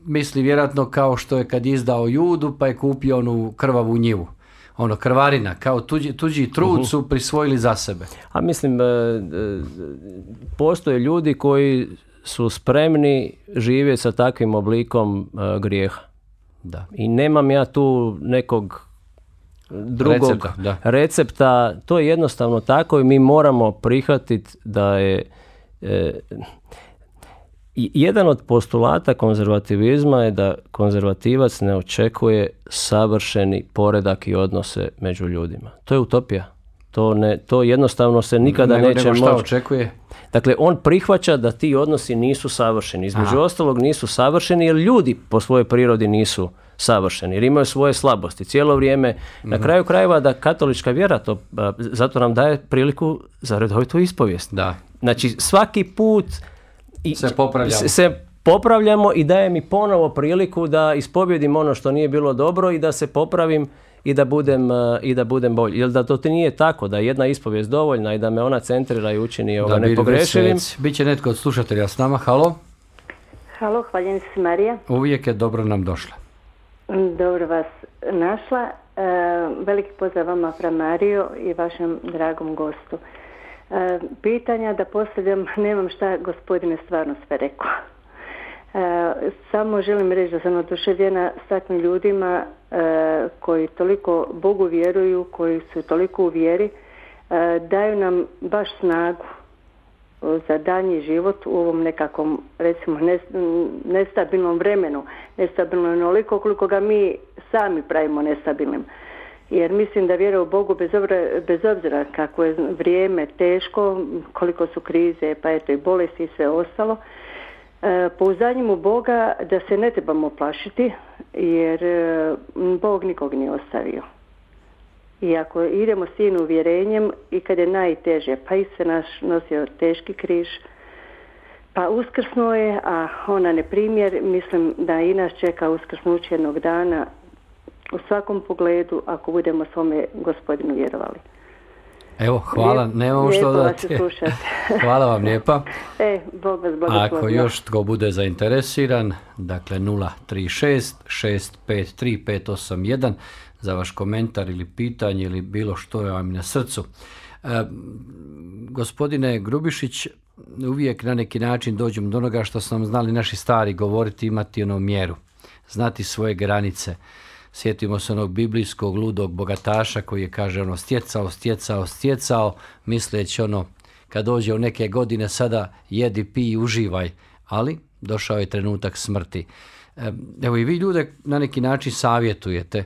misli vjerojatno kao što je kad izdao Judu pa je kupio onu krvavu njivu. Krvarina, kao tuđi trud su prisvojili za sebe. A mislim, postoje ljudi koji su spremni živjeti sa takvim oblikom grijeha. Da. I nemam ja tu nekog drugog recepta. To je jednostavno tako i mi moramo prihvatiti da je jedan od postulata konzervativizma je da konzervativac ne očekuje savršeni poredak i odnose među ljudima. To je utopija. To jednostavno se nikada neće moći. Šta očekuje? Dakle, on prihvaća da ti odnosi nisu savršeni. Između ostalog nisu savršeni jer ljudi po svojoj prirodi nisu savršeni, jer imaju svoje slabosti. Cijelo vrijeme, na kraju krajeva da katolička vjera zato nam daje priliku za redovitu ispovijest. Da. Znači, svaki put se popravljamo i daje mi ponovo priliku da ispovjedim ono što nije bilo dobro i da se popravim i da budem bolji. Jer da to nije tako, da je jedna ispovijest dovoljna i da me ona centrira i učini nepogrešivim. Biće netko od slušatelja s nama. Halo? Halo, hvaljen se Marija. Uvijek je dobro nam došla. Dobro vas našla. Veliki pozdrav vama, fra Marijo, i vašem dragom gostu. Pitanja da postavljam, nemam šta gospodine stvarno sve rekao. Samo želim reći da sam oduševljena s takvim ljudima koji toliko Bogu vjeruju, koji su toliko u vjeri, daju nam baš snagu za daljnji život u ovom nekakvom, recimo, nestabilnom vremenu. Nestabilno je onoliko koliko ga mi sami pravimo nestabilnim. Jer mislim da vjera u Bogu, bez obzira kako je vrijeme teško, koliko su krize, pa eto i bolesti i sve ostalo, pouzdanjem u Boga da se ne trebamo plašiti, jer Bog nikog nije ostavio. I ako idemo s tim uvjerenjem i kad je najteže, pa i se naš nosio teški križ, pa uskrsnuo je, a ona ne primjer, mislim da i nas čeka uskrsnuće jednog dana u svakom pogledu, ako budemo svome Gospodinu vjerovali. Evo, hvala, nemamo što dodati. Hvala vam lijepa. Bog vas blagoslovi. Ako još tko bude zainteresiran, dakle 036 653 581 za vaš komentar ili pitanje ili bilo što je vam na srcu. Gospodine Grubišić, uvijek na neki način dođemo do onoga što su nam znali naši stari govoriti, imati mjeru, znati svoje granice. Sjetimo se onog biblijskog ludog bogataša koji je, kaže, stjecao, misleći kad dođe u neke godine sada jedi, pij, uživaj, ali došao je trenutak smrti. Evo i vi ljude na neki način savjetujete.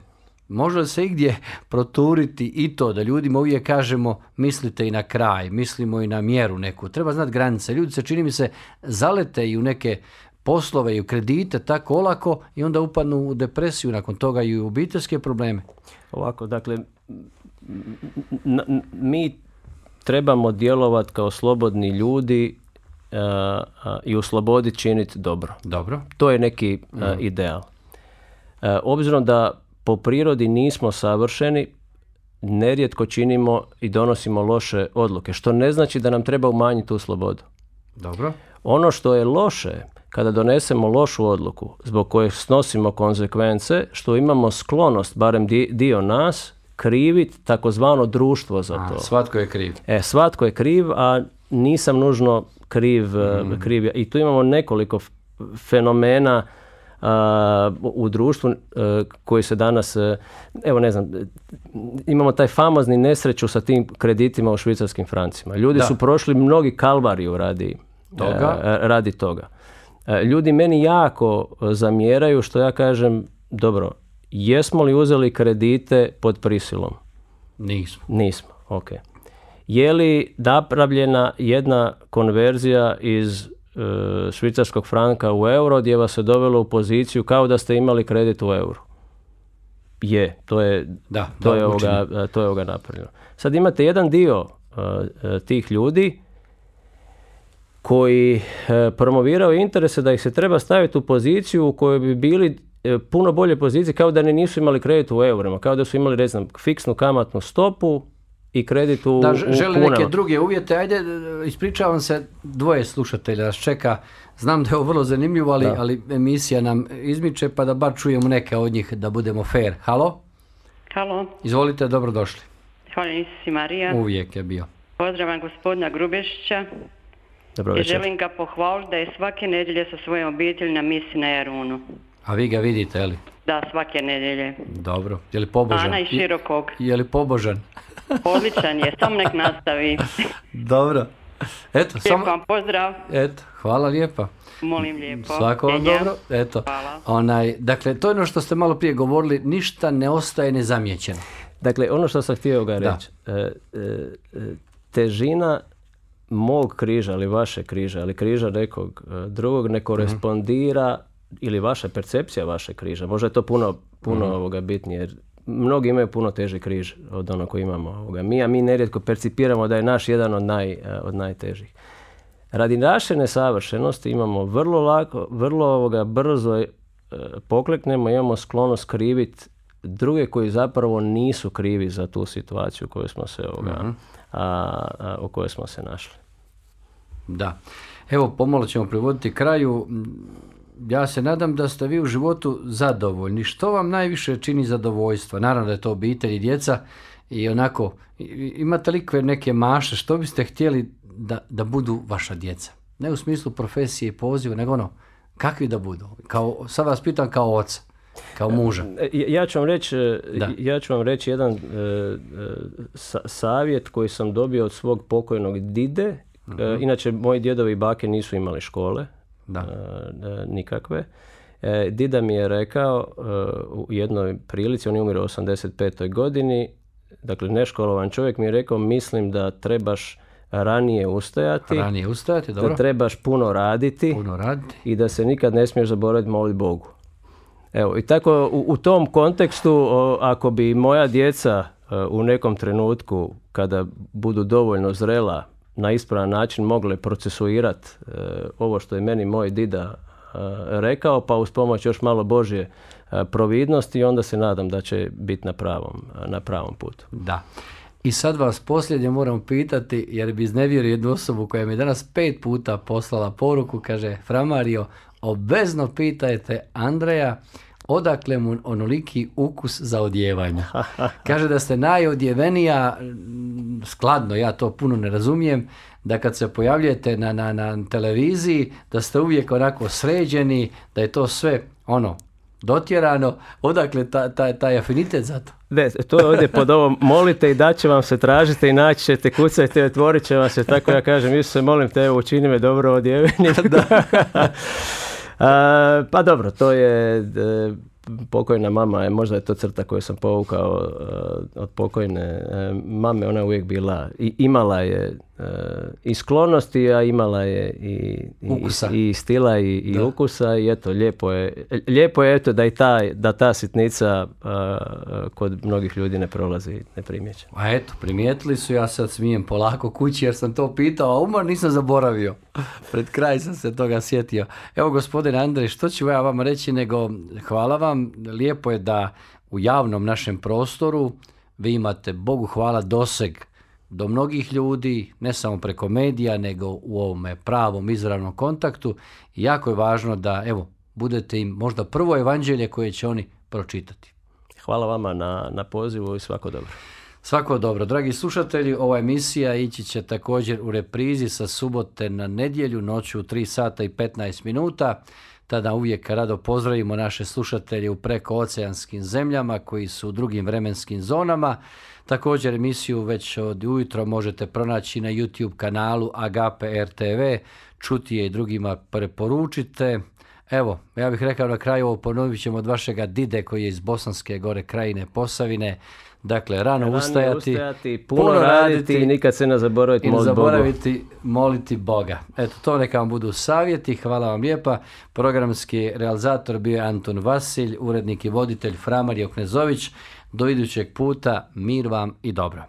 Može li se igdje proturiti i to da ljudima uvijek kažemo mislite i na kraj, mislimo i na mjeru neku. Treba znati granice. Ljudi se, čini mi se, zalete i u neke poslove i u kredite tako olako i onda upadnu u depresiju, nakon toga i u obiteljske probleme. Ovako, dakle, mi trebamo djelovati kao slobodni ljudi i u slobodi činiti dobro. Dobro. To je neki ideal. Obzirom da po prirodi nismo savršeni, nerijetko činimo i donosimo loše odluke, što ne znači da nam treba umanjiti tu slobodu. Dobro. Ono što je loše, kada donesemo lošu odluku zbog koje snosimo konzekvence, što imamo sklonost, barem dio nas, kriviti takozvano društvo za to. Svatko je kriv. Svatko je kriv, a nisam nužno kriv. I tu imamo nekoliko fenomena u društvu koji se danas, evo ne znam, imamo taj famozni nesreću sa tim kreditima u švicarskim francima. Ljudi su prošli mnogi kalvariju radi toga. Ljudi meni jako zamjeraju što ja kažem, dobro, jesmo li uzeli kredite pod prisilom? Nismo, ok. Je li napravljena jedna konverzija iz švicarskog franka u euro gdje vas se dovelo u poziciju kao da ste imali kredit u euru? To je ovoga napravljeno. Sad imate jedan dio tih ljudi koji promovirao interese da ih se treba staviti u poziciju u kojoj bi bili puno bolje pozicije kao da nisu imali kredit u eurima, kao da su imali, ne znam, fiksnu kamatnu stopu i kredit u žele kunama. Neke druge uvjete. Ajde, ispričavam se, dvoje slušatelja nas čeka. Znam da je ovo vrlo zanimljivo, ali emisija nam izmiče, pa da bar čujemo neke od njih da budemo fair. Halo? Halo. Izvolite, dobrodošli. Hvala si Marija. Uvijek je bio. Pozdravam gospodina Grubešića. Dobro večer. I želim ga pohvaliti da je svake nedjelje sa svojom obitelji na misi na Jarunu. A vi ga vidite, je li? Da, svake nedjelje. Dobro. Je li pobožan? Ana iz Širokog. Je li pobožan? Odličan je, samo nek nastavi. Dobro. Eto, Lijep vam pozdrav. Eto, hvala lijepa. Molim lijepo. Svako vam Ljenja. dobro. Eto. Hvala. Dakle, to je ono što ste malo prije govorili, ništa ne ostaje nezamijećeno. Dakle, ono što sam htio ga reći, težina mog križa ili vaše križa ili križa nekog drugog ne korespondira ili vaša percepcija vaše križa. Možda je to puno bitnije, jer mnogi imaju puno teži križ od onog koji imamo mi, a mi nerijetko percipiramo da je naš jedan od najtežih. Radi naše nesavršenosti imamo vrlo brzo pokleknemo, imamo sklonost kriviti druge koji zapravo nisu krivi za tu situaciju koju smo se u kojoj smo se našli. Da. Evo, pomalo ćemo privoditi kraju. Ja se nadam da ste vi u životu zadovoljni. Što vam najviše čini zadovoljstva? Naravno da je to obitelj i djeca i onako, imate li neke mašte, što biste htjeli da budu vaša djeca? Ne u smislu profesije i poziva, nego kakvi da budu? Sad vas pitam kao oca, kao muža. Ja ću vam reći jedan savjet koji sam dobio od svog pokojnog dide. Inače, moji djedovi i bake nisu imali škole. Nikakve. Dida mi je rekao u jednoj prilici, on je umro u 85. godini, dakle neškolovan čovjek mi je rekao, mislim da trebaš ranije ustajati, dobro. Da trebaš puno raditi i da se nikad ne smiješ zaboraviti moliti Bogu. Evo, i tako u tom kontekstu, ako bi moja djeca u nekom trenutku, kada budu dovoljno zrela, na ispravan način mogle procesuirati ovo što je meni moj dida rekao, pa uz pomoć još malo Božje providnosti, onda se nadam da će biti na pravom putu. Da. I sad vas posljednje moram pitati, jer bi iznevjerio jednu osobu koja mi je danas 5 puta poslala poruku, kaže: Fra Mario, obvezno pitajte Andreja odakle mu onoliki ukus za odjevanje. Kaže da ste najodjevenija, skladno, ja to puno ne razumijem, da kad se pojavljujete na televiziji, da ste uvijek onako sređeni, da je to sve dotjerano. Odakle taj afinitet za to? Ne, to je ovdje pod ovom, molite i da će vam se, tražite i naći ćete, kucajte i otvorit će vam se, tako ja kažem, Isuse, molim te, učini me dobro odjevenim. Pa dobro, to je pokojna mama, možda je to crta koju sam povukao od pokojne mame, ona je uvijek bila, imala je i sklonosti, a imala je i stila i ukusa, i eto, lijepo je eto da ta sitnica kod mnogih ljudi ne prolazi neprimjećena. A eto, primijetili su, ja sad smijem polako kući jer sam to pitao, a umor nisam zaboravio. Pred kraj sam se toga sjetio. Evo, gospodine Andrej, što ću ja vam reći, nego hvala vam, lijepo je da u javnom našem prostoru vi imate, Bogu hvala, doseg do mnogih ljudi, ne samo preko medija, nego u ovome pravom izravnom kontaktu. I jako je važno da, evo, budete im možda prvo evanđelje koje će oni pročitati. Hvala vama na pozivu i svako dobro. Svako dobro. Dragi slušatelji, ova emisija ići će također u reprizi sa subote na nedjelju, noću u 3 sata i 15 minuta. Tada uvijek rado pozdravimo naše slušatelje u prekooceanskim zemljama koji su u drugim vremenskim zonama. Također emisiju već od ujutro možete pronaći na YouTube kanalu Agape RTV, čuti je i drugima preporučite. Evo, ja bih rekao na kraju, ovo ponovit ćemo od vašega dide koji je iz Bosanske Gore krajine Posavine. Dakle, rano ustajati, puno raditi i nikad se ne zaboraviti moliti Boga. Eto, to neka vam budu savjeti. Hvala vam lijepa. Programski realizator bio je Anton Vasilj, urednik i voditelj Fra Mario Knezović. Do idućeg puta, mir vam i dobro.